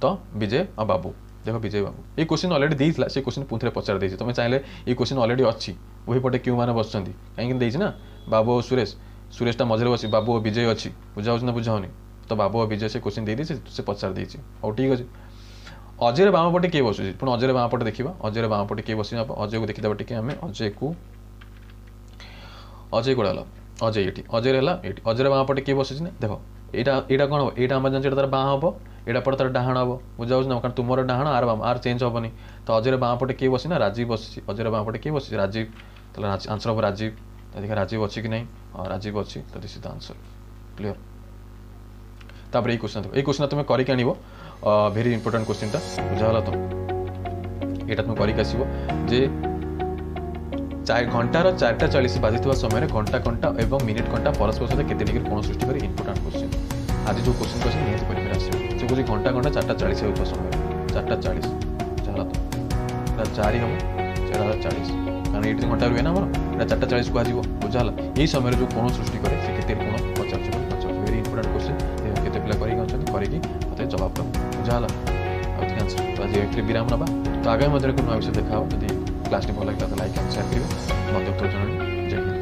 ତ ବିଜୟ ଆଉ ବାବୁ ଦେଖ ବିଜୟ ବାବୁ ଏଇ କୋଶ୍ଚିନ୍ ଅଲରେଡ଼ି ଦେଇଥିଲା ସେ କୋଶ୍ଚିନ୍ ପୁଣି ଥରେ ପଚାରି ଦେଇଛି ତୁମେ ଚାହିଁଲେ ଏଇ କୋଶ୍ଚିନ୍ ଅଲରେଡ଼ି ଅଛି ଉଭୟ ପଟେ କେଉଁମାନେ ବସୁଛନ୍ତି କାହିଁକି ଦେଇଛି ନା ବାବୁ ଆଉ ସୁରେଶ ସୁରେଶଟା ମଝିରେ ବସି ବାବୁ ଆଉ ବିଜୟ ଅଛି ବୁଝା ହେଉଛି ନା ବୁଝା ହେଉନି ତ ବାବୁ ଆଉ ବିଜୟ ସେ କୋଶ୍ଚିନ୍ ଦେଇଦେଇଛି ସେ ପଚାରି ଦେଇଛି ହଉ ଠିକ୍ ଅଛି ଅଜୟର ବାମ ପଟେ କିଏ ବସୁଛି ପୁଣି ଅଜୟର ବାମ ପଟେ ଦେଖିବା ଅଜୟର ବାମ ପଟେ କିଏ ବସିଛି ଅଜୟକୁ ଦେଖିଦେବା ଟିକେ ଆମେ ଅଜୟକୁ ଅଜୟ କୁଆଡ଼େ ହେଲା ଅଜୟ ଏଇଠି ଅଜୟର ହେଲା ଏଇଠି ଅଜୟର ବାମ ପଟେ କିଏ ବସିଛି ନା ଦେଖ ଏଇଟା ଏଇଟା କ'ଣ ହେବ ଏଇଟା ଆମେ ଜାଣିଛୁ ଏଇଟା ତାର ବାଁ ହେବ ଏଇଟା ପଟେ ତାର ଡାହାଣ ହେବ ବୁଝାଉଛି ନା କାରଣ ତୁମର ଡାହାଣ ଆର ବାମ ଆର ଚେଞ୍ଜ ହେବନି ତ ଅଜୟର ବାଁ ପଟେ କିଏ ବସି ନା ରାଜୀବ ବସିଛି ଅଜୟର ବାଁ ପଟେ କିଏ ବସିଛି ରାଜୀବ ତାହେଲେ ଆନ୍ସର୍ ହେବ ରାଜୀବ ତ ଦେଖିବା ରାଜୀବ ଅଛି କି ନାହିଁ ହଁ ରାଜୀବ ଅଛି ତ this is the answer clear ତାପରେ ଏଇ କ୍ୱେଶ୍ଚନ୍ ଏଇ କ୍ୱେଶ୍ଚନ୍ ତୁମେ କରିକି ଆଣିବ ଭେରି ଇମ୍ପୋର୍ଟାଣ୍ଟ କ୍ୱେଶ୍ଚିନ୍ଟା ବୁଝାଗଲା ତ ଏଇଟା ତୁମେ କରିକି ଆସିବ ଯେ ଚାରି ଘଣ୍ଟାର ଚାରିଟା ଚାଳିଶ ବାଜିଥିବା ସମୟରେ ଘଣ୍ଟା କଣ୍ଟା ଏବଂ ମିନିଟ୍ କଣ୍ଟା ପରସ୍ପର ସହିତ କେତେ ଡିଗ୍ରୀ କୋଣ ସୃଷ୍ଟି କରେ ଇମ୍ପୋର୍ଟାଣ୍ଟ କ୍ୱେଶ୍ଚିନ୍ ଆଜି ଯେଉଁ କ୍ୱେଶ୍ଚିନ୍ କ୍ୱେଶ୍ଚିନ୍ ନିହାତି ପରୀକ୍ଷାରେ ଆସିବ ସେ କହୁଛି ଘଣ୍ଟା ଘଣ୍ଟା ଚାରିଟା ଚାଳିଶ ହେଉଥିବା ସମୟରେ ଚାରିଟା ଚାଳିଶ ବୁଝାଗଲା ତ ଏଇଟା ଚାରି ହେବ ସେଟା ହେଲା ଚାଳିଶ କାରଣ ଏଇଠି ଘଣ୍ଟା ରୁହେ ନା ଆମର ଏଇଟା ଚାରିଟା ଚାଳିଶ କୁହାଯିବ ବୁଝାହେଲା ଏଇ ସମୟରେ ଯେଉଁ କୋଣ ସୃଷ୍ଟି କରେ ସେ କେତେ କୋଣ ପଚାରୁଛି ବୋଲି ପଚାରୁଛି ଭେରି ଇମ୍ପୋର୍ଟାଣ୍ଟ କ୍ୱେଶ୍ଚିନ୍ କେତେ ପିଲା କରିକି ଅଛନ୍ତି କରିକି ମୋତେ ଜବାବ ଦେବ ବୁଝାହେଲା ଆଉ ଠିକ୍ ଆନ୍ସର ତ ଆଜି ଏଥିରେ ବିରାମ ନେବା ତ ଆଗାମୀ ମଧ୍ୟରେ ଏକ ନୂଆ ବିଷୟ ଦେଖା ହେବ ଯଦି କ୍ଲାସ୍ଟି ଭଲ ଲାଗିଲା ତ ଲାଇକ୍ ଆଣ୍ଡ ସେୟାର କରିବେ ମତେ ଉତ୍ତର ଜଣାଇବେ ଜୟ ହିନ୍ଦ